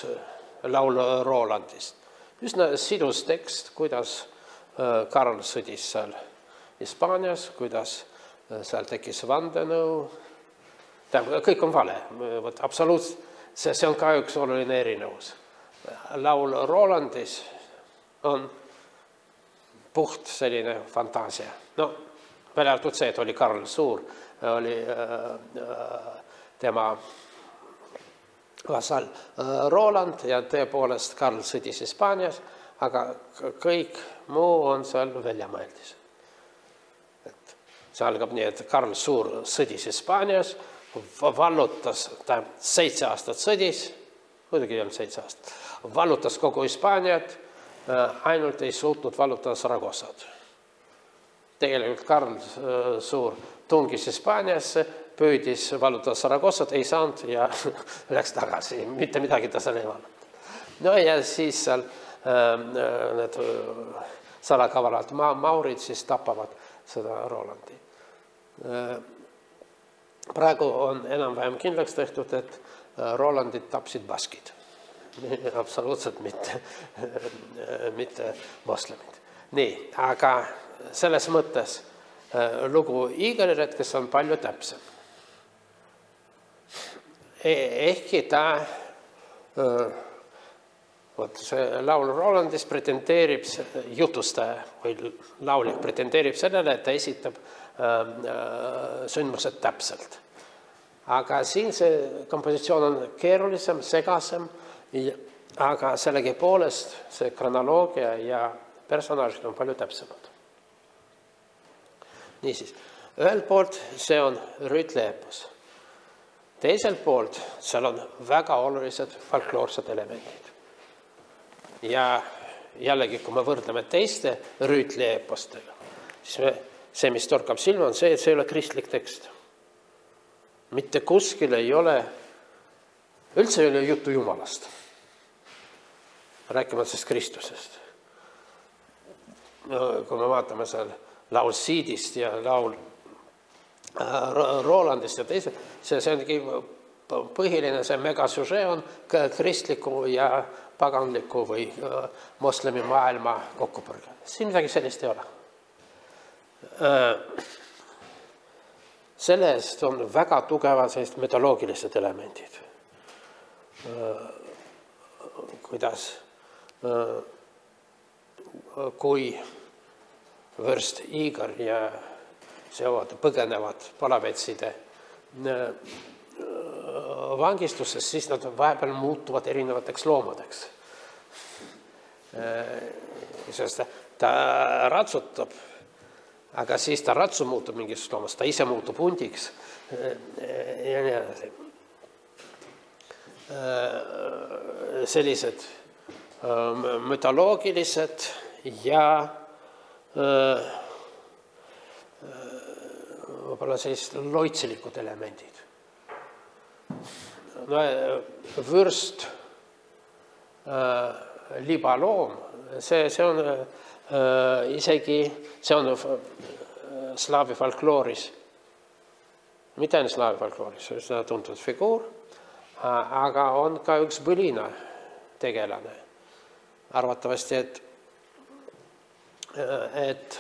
laul Rolandist. Üsna sidus tekst, kuidas Karl sõdis seal Hispaanias, kuidas seal tekkis vandenõu. Kõik on vale, absoluutselt. See on ka üks oluline erinevus. Laul Rolandis on puht selline fantaasia. No, välja arvatud see, et oli Karl Suur, oli tema vasall Roland ja tõepoolest Karl sõdis Hispaanias, aga kõik muu on seal väljamõeldis. See algab nii, et Karl Suur sõdis Hispaanias, vallutas, ta 7 aastat sõdis, muidugi ei olnud 7 aastat, vallutas kogu Hispaaniat, ainult ei suutnud vallutada Saragossat. Tegelikult Karl Suur tungis Hispaaniasse, püüdis vallutada Saragossat, ei saanud ja läks tagasi, mitte midagi ta seal ei valluta. No ja siis seal need salakavalad maurid siis tapavad seda Rolandi. Praegu on enam-vähem kindlaks tehtud, et Rolandid tapsid baskid. Absoluutselt mitte moslemid. Nii, aga selles mõttes lugu Igor Retkes on palju täpsem. Ehkki ta Vot see laul Rolandis pretendeerib, jutustaja või laulik pretendeerib sellele, et ta esitab sündmused täpselt. Aga siin see kompositsioon on keerulisem, segasem, aga sellegipoolest see kronoloogia ja personaažid on palju täpsemad. Niisiis, ühelt poolt see on rüütleepos. Teiselt poolt seal on väga olulised folkloorsed elemendid. Ja jällegi, kui me võrdleme teiste rüütleepostega, siis see, mis torkab silma, on see, et see ei ole kristlik tekst. Mitte kuskil ei ole, üldse ei ole juttu Jumalast. Rääkimata sellest Kristusest. Kui me vaatame seal laul Siidist ja laul Rolandist ja teised, see ongi põhiline, see megasüžee on kristliku ja paganliku või moslemi maailma kokkupõrge. Siin midagi sellist ei ole. Selle eest on väga tugevad sellised mütoloogilised elemendid. Kuidas, kui vürst Igor ja seovad põgenevad palavetside vangistuses, siis nad vahepeal muutuvad erinevateks loomadeks. Sest ta ratsutab, aga siis ta ratsu muutub mingist loomast, ta ise muutub hundiks ja nii edasi. Sellised mütoloogilised ja võib-olla sellised loitsilikud elemendid. No, vürst, libaloom, see on isegi, see on slaavi folklooris, mitte ainult slaavi folklooris, see on tuntud figuur, aga on ka üks põlina tegelane. Arvatavasti, et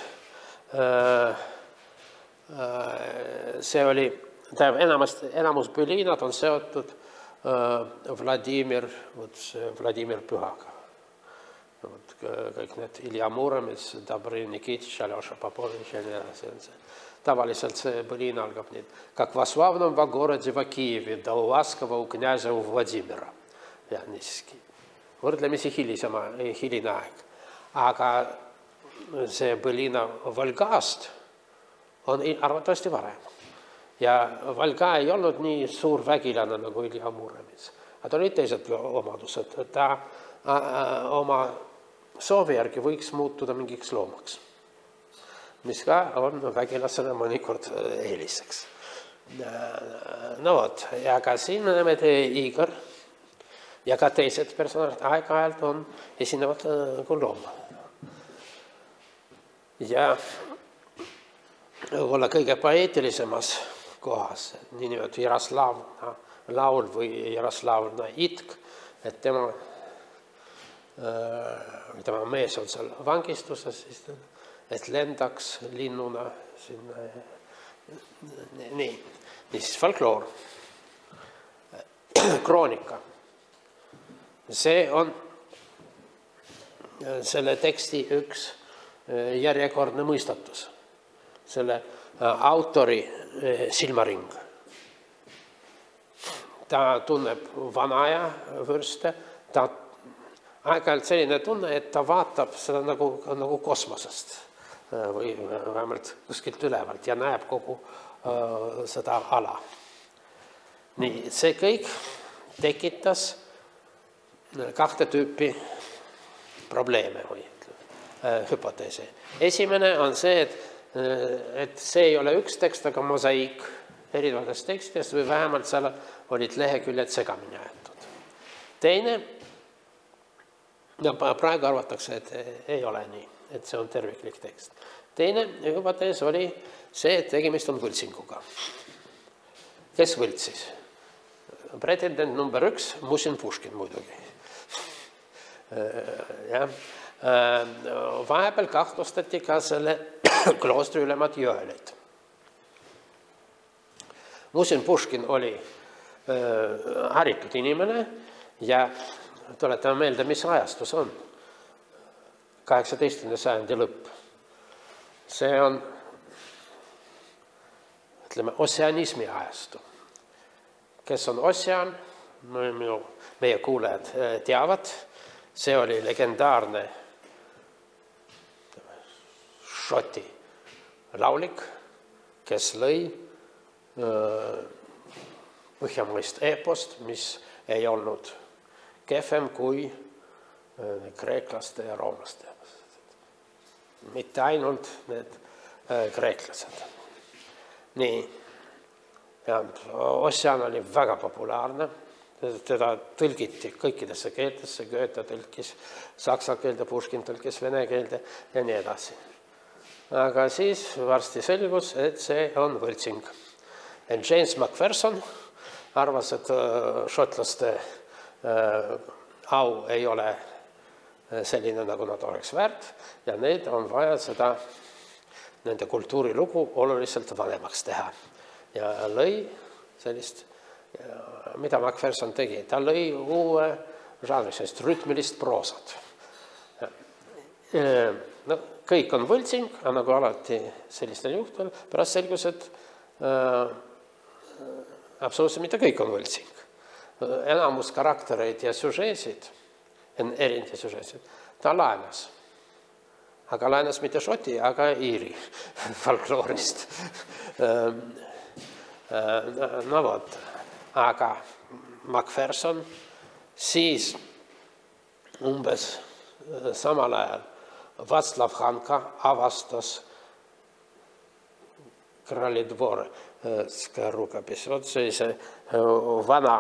see oli, enamus põlinad on seotud Vladimir Pühaga. Kõik need Ilja Muromets, Dobrin Nikitš, Aljoša Popovitš ja nii edasi. Tavaliselt see põlina algab nii. Как в славном городе в Киеве, да у ласкового у князя у Владимира. Ja niiski. Võrdlemisi hiline aeg. Aga see põlina Volgast on arvatavasti varem. Ja Volga ei olnud nii suur vägilane nagu Ilja Muromets. Aga olid teised omadused. Ta oma soovi järgi võiks muutuda mingiks loomaks, mis ka on vägilasele mõnikord eeliseks. No vot, ja ka siin me näeme Igor ja ka teised personaalid aeg-ajalt on esinevad kui looma. Ja olla kõige poeetilisemas kohas, nii nimelt Jaroslavna laul või Jaroslavna itk, et tema mees on seal vangistuses, et lendaks linnuna sinna. Nii, siis folkloor. Kroonika. See on selle teksti üks järjekordne mõistatus. Selle autori silmaring. Ta tunneb vanaja vürste, ta aeg-ajalt selline tunne, et ta vaatab seda nagu kosmosest või vähemalt kuskilt ülevalt ja näeb kogu seda ala. Nii, see kõik tekitas kahte tüüpi probleeme või hüpoteesi. Esimene on see, et see ei ole üks tekst, aga mosaiik erinevatest tekstidest või vähemalt seal olid leheküljed segamini aetud. Teine, praegu arvatakse, et ei ole nii, et see on terviklik tekst. Teine hüpotees oli see, et tegemist on võltsinguga. Kes võltsis? Pretendent number 1, Musin Puškin muidugi. Vahepeal kahtlustati ka selle kloostri ülemad Jõelit. Musin Puškin oli haritud inimene ja tuletame meelde, mis ajastus on. 18. sajandi lõpp. See on, ütleme, ossianismi ajastu. Kes on ossian, meie kuulajad teavad, see oli legendaarne šoti laulik, kes lõi põhjamaist epost, mis ei olnud kehvem kui kreeklaste ja roomlaste. Mitte ainult need kreeklased. Nii, ja Ossian oli väga populaarne, teda tõlgiti kõikidesse keeltesse, Goethe tõlkis saksa keelde, Puškin tõlkis vene keelde ja nii edasi. Aga siis varsti selgus, et see on võltsing. James Macpherson arvas, et šotlaste au ei ole selline, nagu nad oleks väärt, ja need on vaja seda, nende kultuurilugu oluliselt vanemaks teha. Ja lõi sellist, mida Macpherson tegi, ta lõi uue žanri, sellist rütmilist proosat. No, kõik on võltsing, aga nagu alati sellistel juhtudel, pärast selgus, et absoluutselt mitte kõik on võltsing. Enamus karaktereid ja süžeesid, erinevate süžeesid, ta laenas. Aga laenas mitte šoti, aga iiri folkloorist. No vot, aga Macpherson siis umbes samal ajal Václav Hanka avastas Kralidvorska rukapis. See vana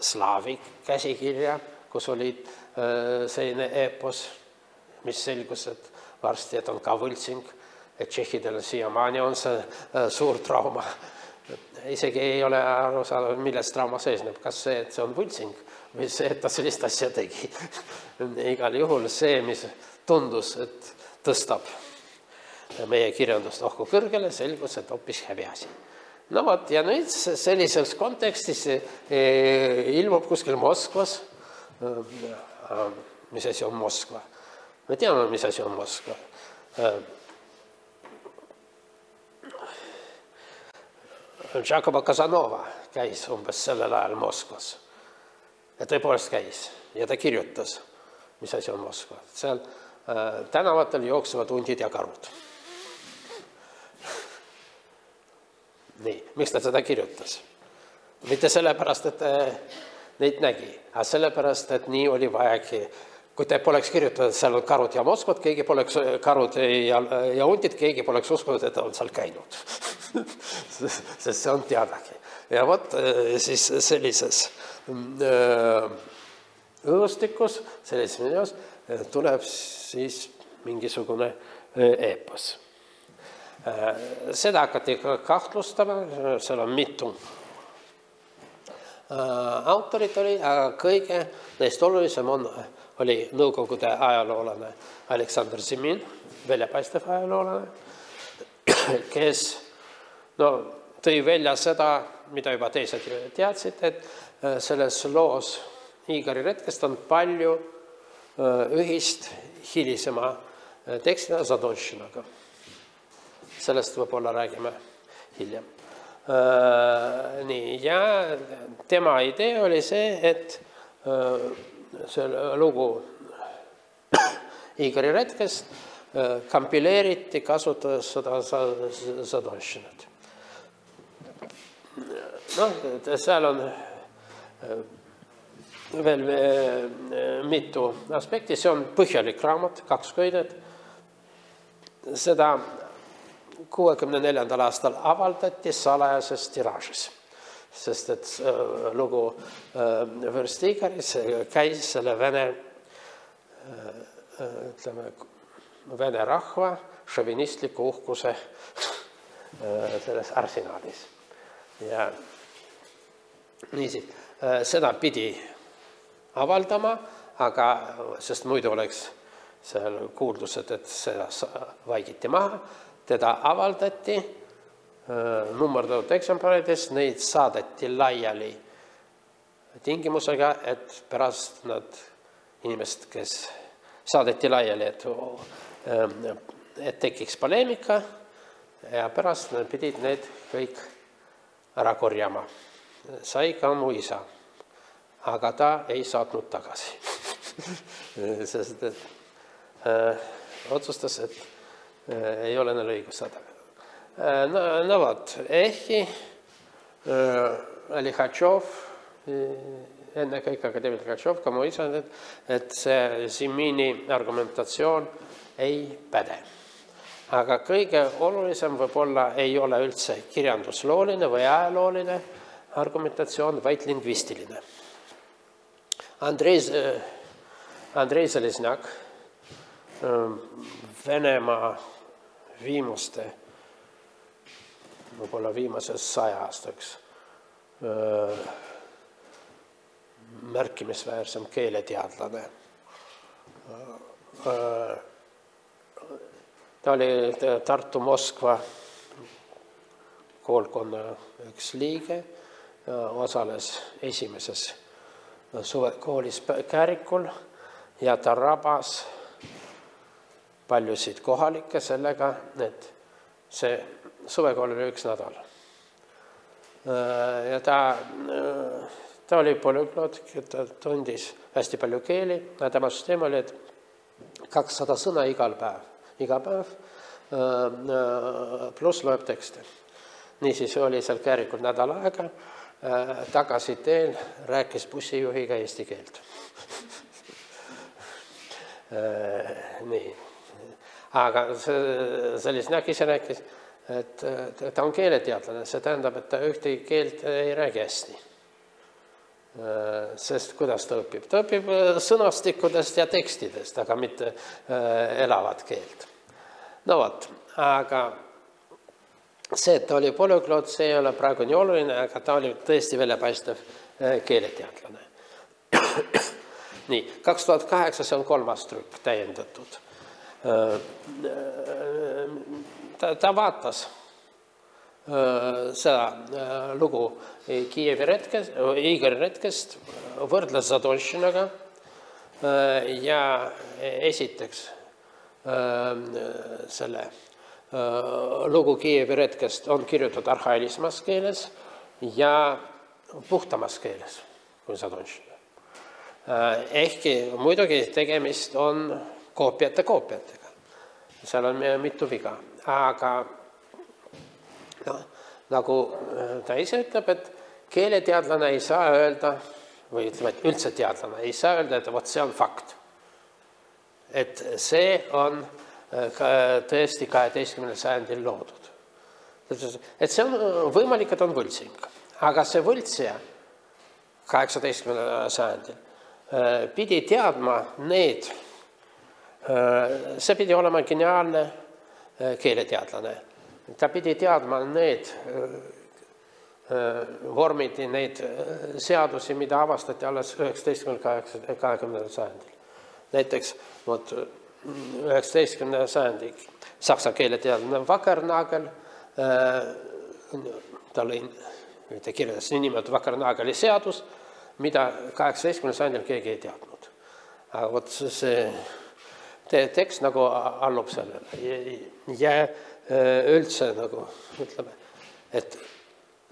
slaavi käsikirja, kus oli selline epos, mis selgus, et varsti et on ka võltsing, et tšehhidel siiamaani on see suur trauma. Isegi ei ole aru saada, millest trauma seisneb, kas see, et see on võltsing või see, et ta sellist asja tegi. Igal juhul see, mis tundus, et tõstab meie kirjandust ohku kõrgele, selgus, et hoopis häbiasi. No vot, ja nüüd sellises kontekstis ilmub kuskil Moskvas. Mis asi on Moskva? Me teame, mis asi on Moskva. Giacomo Casanova käis umbes sellel ajal Moskvas. Ja tõepoolest käis ja ta kirjutas, mis asi on Moskva. Seal tänavatel jooksevad hundid ja karud. Nii, miks ta seda kirjutas? Mitte sellepärast, et neid nägi, aga sellepärast, et nii oli vajagi. Kui te poleks kirjutanud, et seal on karud ja Moskvad, keegi poleks karud ja hundid, keegi poleks uskunud, et ta on seal käinud. Sest see on teadagi. Ja vot siis sellises õhustikus, sellises videos tuleb siis mingisugune eepos. Seda hakati kahtlustama, seal on mitu autorit oli, aga kõige neist olulisem oli nõukogude ajaloolane Aleksandr Zemin, väljapaistev ajaloolane, kes tõi välja seda, mida juba teised teadsid, et selles loos Igori retkest on palju ühist hilisema tekstina Zadonšinaga. Sellest võib-olla räägime hiljem. Nii, ja tema idee oli see, et see lugu Igori retkest kompileeriti, kasutades seda Zadonšinat. Seal on veel mitu aspekti, see on põhjalik raamat, 2 köidet. Seda 64. aastal avaldati salajases tiraažis, sest et lugu Vürst Igoris käis selle vene rahva šovinistliku uhkuse selles arsenaalis. Ja niisiis, seda pidi avaldama, aga sest muidu oleks seal kuuldused, et seda vaikiti maha, teda avaldati nummerdatud eksemplarides, neid saadeti laiali tingimusega, et pärast nad inimesed, kes saadeti laiali, et tekiks poleemika ja pärast nad pidid need kõik ära korjama. Sai ka mu isa, aga ta ei saatnud tagasi. Sest otsustas, et ei ole neil õigus saada. No vot, ehkki Lihatšov, enne kõik akadeemik Lihatšov, ka mu isa, et see Zimini argumentatsioon ei päde. Aga kõige olulisem võib-olla ei ole üldse kirjanduslooline või ajalooline argumentatsioon, vaid lingvistiline. Andrei Zalesnjak, Venemaa viimaste, võib-olla viimases 100 aastaks märkimisväärsem keeleteadlane. Ta oli Tartu-Moskva koolkonna üks liige, osales esimeses suvekoolis Käärikul ja ta rabas paljusid kohalikke sellega, et see suvekool oli 1 nädal. Ja ta oli polüglot, ta tundis hästi palju keeli, ja tema süsteem oli, et 200 sõna iga päev, pluss loeb tekste. Niisiis oli seal Käärikul nädal aega, tagasi teel rääkis bussijuhiga eesti keelt. Nii. Aga Zalesnjak ise rääkis, et ta on keeleteadlane, see tähendab, et ta ühtegi keelt ei räägi hästi. Sest kuidas ta õpib? Ta õpib sõnastikudest ja tekstidest, aga mitte elavat keelt. No vot, aga see, et ta oli polüglot, see ei ole praegu nii oluline, aga ta oli tõesti väljapaistev keeleteadlane. Nii, 2008 see on 3. trükk täiendatud. Ta vaatas seda lugu Igor Retkest, võrdles Zadonšinaga ja esiteks selle lugu Kiievi Retkest on kirjutatud arhailisemas keeles ja puhtamas keeles kui Zadonšina. Ehkki muidugi tegemist on koopiatega. Seal on mitu viga, aga nagu ta ise ütleb, et keeleteadlane ei saa öelda, või ütleme, et üldse teadlane ei saa öelda, et vot see on fakt. Et see on tõesti 12. sajandil loodud. Et see on võimalik, et on võltsing, aga see võltsija 18. sajandil pidi teadma need, see pidi olema geniaalne keeleteadlane. Ta pidi teadma need vormid, neid seadusi, mida avastati alles 19. 20. sajandil. Näiteks 19. sajandi saksa keeleteadlane Wackernagel, ta lõi, ta kirjeldas nimelt Wackernageli seadus, mida 18. sajandil keegi ei teadnud. Aga vot see tekst nagu allub sellele ja üldse nagu ütleme, et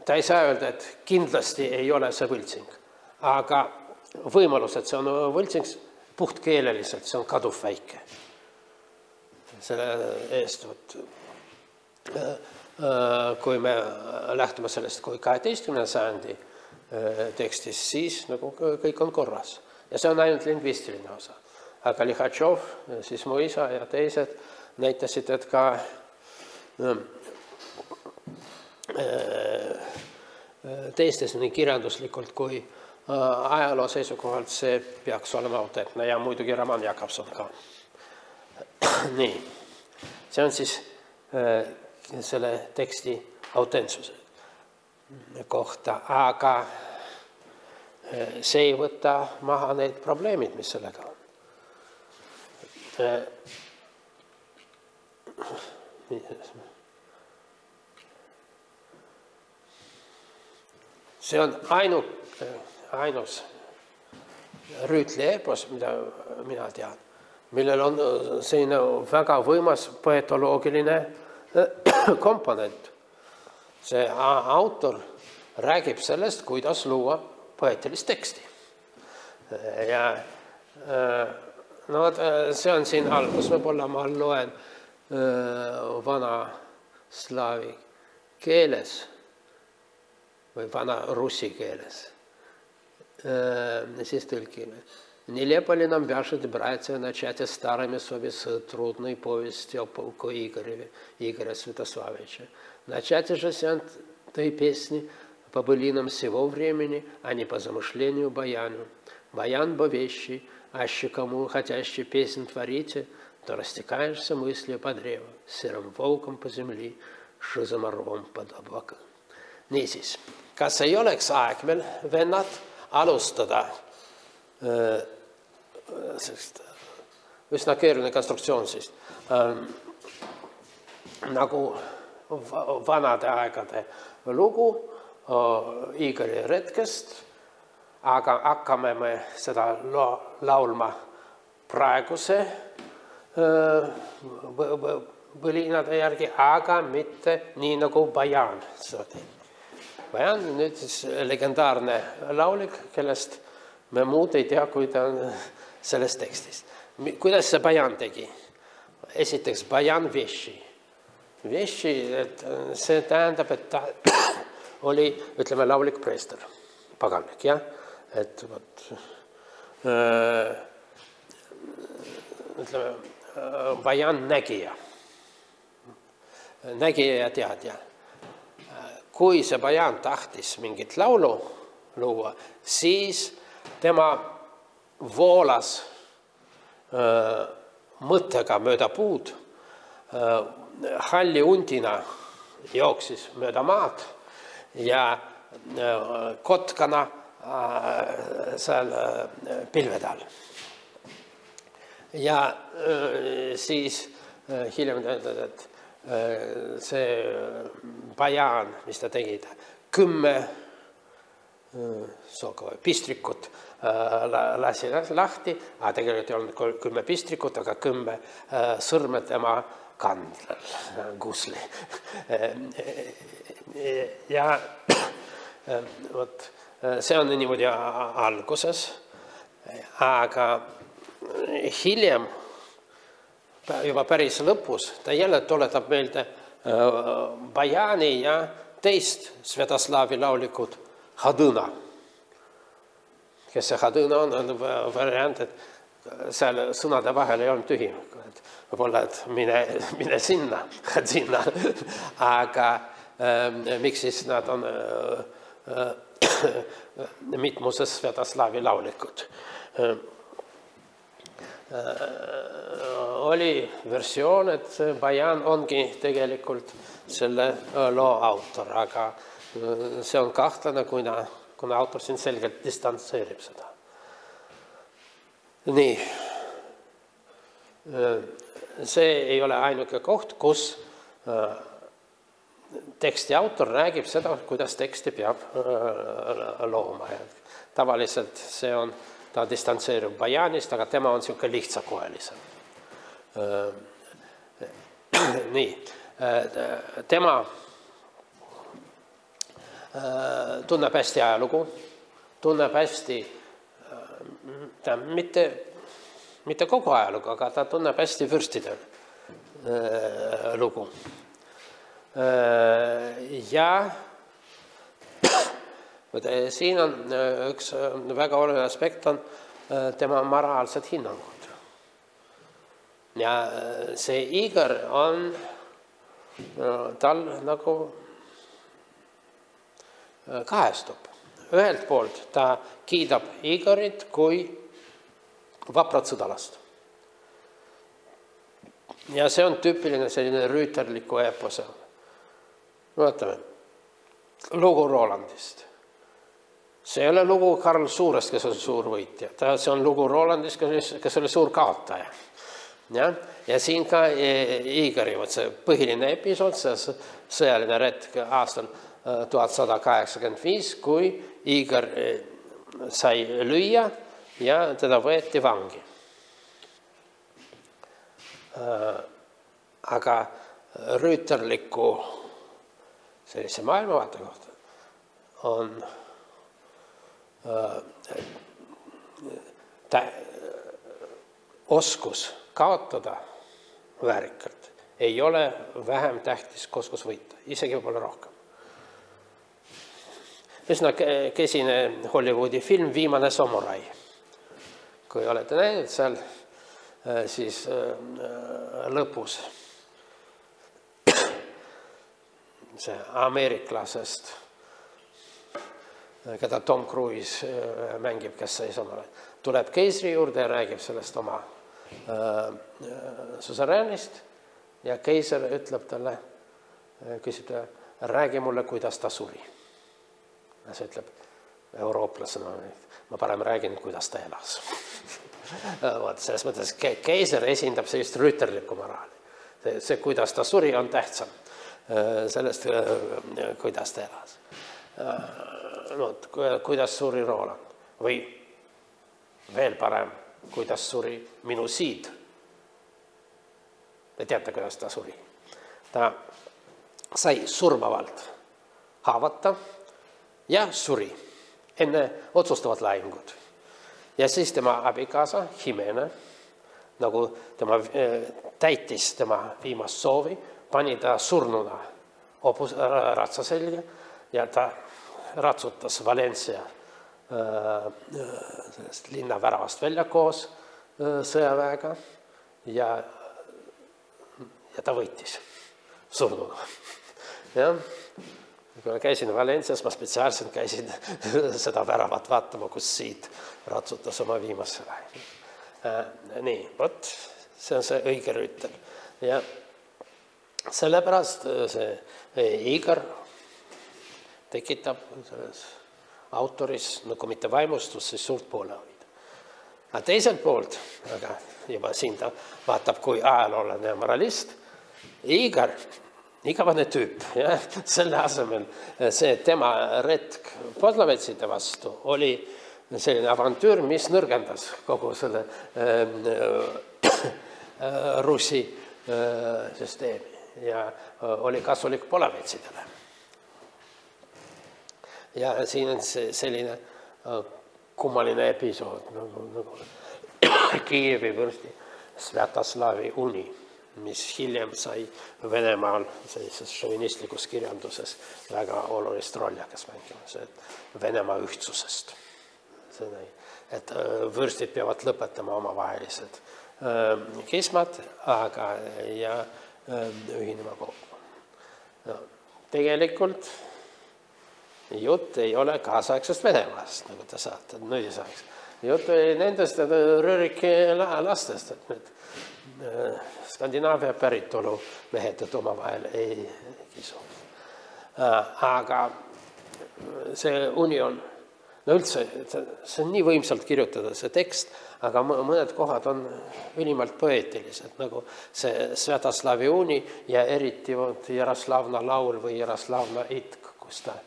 ta ei saa öelda, et kindlasti ei ole see võltsing, aga võimalus, et see on võltsing puhtkeeleliselt, see on kaduv väike. Selle eest, kui me lähtume sellest kui 12. sajandi tekstis, siis nagu kõik on korras. Ja see on ainult lingvistiline osa. Aga Lihatšov, siis mu isa ja teised näitasid, et ka teistes nii kirjanduslikult kui ajaloo seisukohalt see peaks olema autentne ja muidugi Roman Jakobson ka. Nii, see on siis selle teksti autentsuse kohta, aga see ei võta maha need probleemid, mis sellega on. See on ainus Rüütli eepos, mida mina tean, millel on selline väga võimas poetoloogiline komponent. See autor räägib sellest, kuidas luua poeetilist teksti. Ja no, see on siin algus, võib-olla ma loen vana slaavi keeles või vana russi keeles. Siis tõlkime. Нелепо ли нам, братья, начать старыми совестью трудной повести о полку Игоря Святославича. Начать же с этой песни по былинам всего времени, а не по замышлению баяну. Баян бо вещи, аще кому хотящий песнь творите, то растекаешься мыслью по древу, серым волком по земли, шизоморвом под облака. Niisiis, kas ei oleks aeg meil, vennad, alustada üsna keeruline konstruktsioon siis, nagu vanade aegade lugu Igori retkest, aga hakkame me seda laulma praeguse põlinade järgi, aga mitte nii nagu Bajan. Bajan on nüüd siis legendaarne laulik, kellest me muud ei tea, kui ta on selles tekstis. Kuidas see Bajan tegi? Esiteks Bajan Veši. Veši, see tähendab, et ta oli, ütleme, laulik preester, paganlik, jah? Et võt, ütleme, Bajan nägija. Nägija ja teadja. Kui see Bajan tahtis mingit laulu luua, siis tema voolas mõttega mööda puud, halli undina jooksis mööda maad ja kotkana seal pilvede all. Ja siis hiljem ütled, et see Bajan, mis ta tegi, 10 pistrikut lasi lahti, aga tegelikult ei olnud 10 pistrikut, aga 10 sõrme tema kandlal, gusli. Ja see on niimoodi alguses, aga hiljem juba päris lõpus ta jälle tuletab meelde Bajani ja teist Svetoslavi laulikud Hadõna. Kes see Hadõna on variant, et seal sõnade vahel ei olnud tühi. Võib-olla, et mine sinna, Hadõna. Aga miks siis nad on mitmuses Svetoslavi laulikud? Oli versioon, et Bajan ongi tegelikult selle loo autor, aga see on kahtlane, kuna autor siin selgelt distantseerib seda. Nii. See ei ole ainuke koht, kus teksti autor räägib seda, kuidas teksti peab looma. Tavaliselt see on ta distantseerub Bajanist, aga tema on niisugune lihtsakoelisem. Nii, tema tunneb hästi ajalugu, tunneb hästi, mitte kogu ajalugu, aga ta tunneb hästi vürstide lugu. Ja siin on üks väga oluline aspekt on tema moraalsed hinnangud. Ja see Igor on tal nagu kahestub. Ühelt poolt ta kiidab Igorit kui vaprat sõdalast. Ja see on tüüpiline selline rüüterliku eepose. Vaatame, lugu Rolandist. See ei ole lugu Karl Suurest, kes on suur võitja. See on lugu Rolandist, kes oli suur kaotaja. Ja siin ka Igori põhiline episood, see sõjaline retk aastal 1185, kui Igor sai lüüa ja teda võeti vangi. Aga rüüterliku sellise maailmavaate kohta on oskus kaotada väärikalt ei ole vähem tähtis kui oskus võita, isegi võib-olla rohkem. Üsna kesine Hollywoodi film Viimane samurai. Kui olete näinud seal, siis lõpus see ameeriklasest, keda Tom Cruise mängib, kes sai samurai, tuleb keisri juurde ja räägib sellest oma suseräänist ja keiser ütleb talle, küsib talle, räägi mulle, kuidas ta suri. Ja see ütleb eurooplasena, ma parem räägin, kuidas ta elas. Selles mõttes keiser esindab sellist rüüterlikku moraali. See, kuidas ta suri, on tähtsam sellest, kuidas ta elas. Kuidas suri Roland või veel parem, kuidas suri minu siid. Te teate, kuidas ta suri. Ta sai surmavalt haavata ja suri enne otsustavat lahingut. Ja siis tema abikaasa, Jimena, nagu tema täitis tema viimast soovi, pani ta surnuna ratsa selga ja ta ratsutas Valencia linna väravast välja koos sõjaväega ja ta võitis surnuna. Ja kui käisin Valencias, ma spetsiaalselt käisin seda väravat vaatama, kus siit ratsutas oma viimase vähe. Nii, vot, see on see õige rüütel. Ja sellepärast see Igor tekitab selles autoris, nagu mitte vaimustus, siis suurt poolehoida. Aga teiselt poolt, aga juba siin ta vaatab kui ajaloolane ja moralist, Igor, igavane tüüp, ja selle asemel see tema retk podlavetside vastu oli selline avantüür, mis nõrgendas kogu selle Russi süsteemi ja oli kasulik polavitsidele. Ja siin on selline kummaline episood, nagu Kiievi vürsti Svjatoslavi uni, mis hiljem sai Venemaal sellises šovinistlikus kirjanduses väga olulist rolli hakkas mängima, Venemaa ühtsusest. Et vürstid peavad lõpetama omavahelised kismad, ja ühinema kokku. Tegelikult jutt ei ole kaasaegsest Venemaast, nagu te saate, nõisaeks. Jutt oli nendest Röriki lastest, et need Skandinaavia päritolu mehed, et omavahel ei kisu. Aga see union, no üldse, see on nii võimsalt kirjutada, see tekst, aga mõned kohad on ülimalt poeetilised, nagu see Svjatoslavi uni ja eriti Jaroslavna laul või Jaroslavna itk, kus ta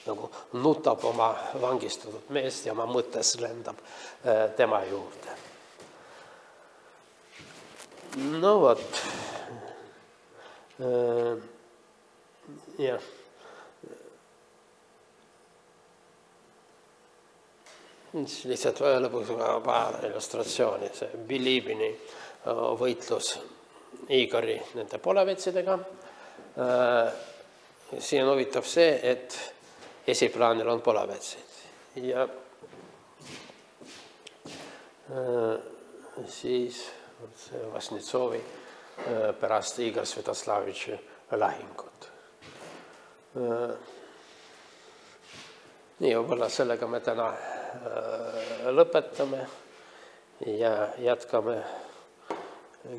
nagu nutab oma vangistatud meest ja oma mõttes lendab tema juurde. No vot. Jah. Lihtsalt lõpuks paar illustratsiooni. See Bilibini võitlus Igori nende polevetsidega. Siin on huvitav see, et esiplaanil on polavetsid ja siis Vasnitsovi pärast Igor Svjatoslavitši lahingut. Nii, võib-olla sellega me täna lõpetame ja jätkame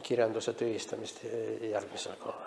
kirjanduse tühistamist järgmisel korral.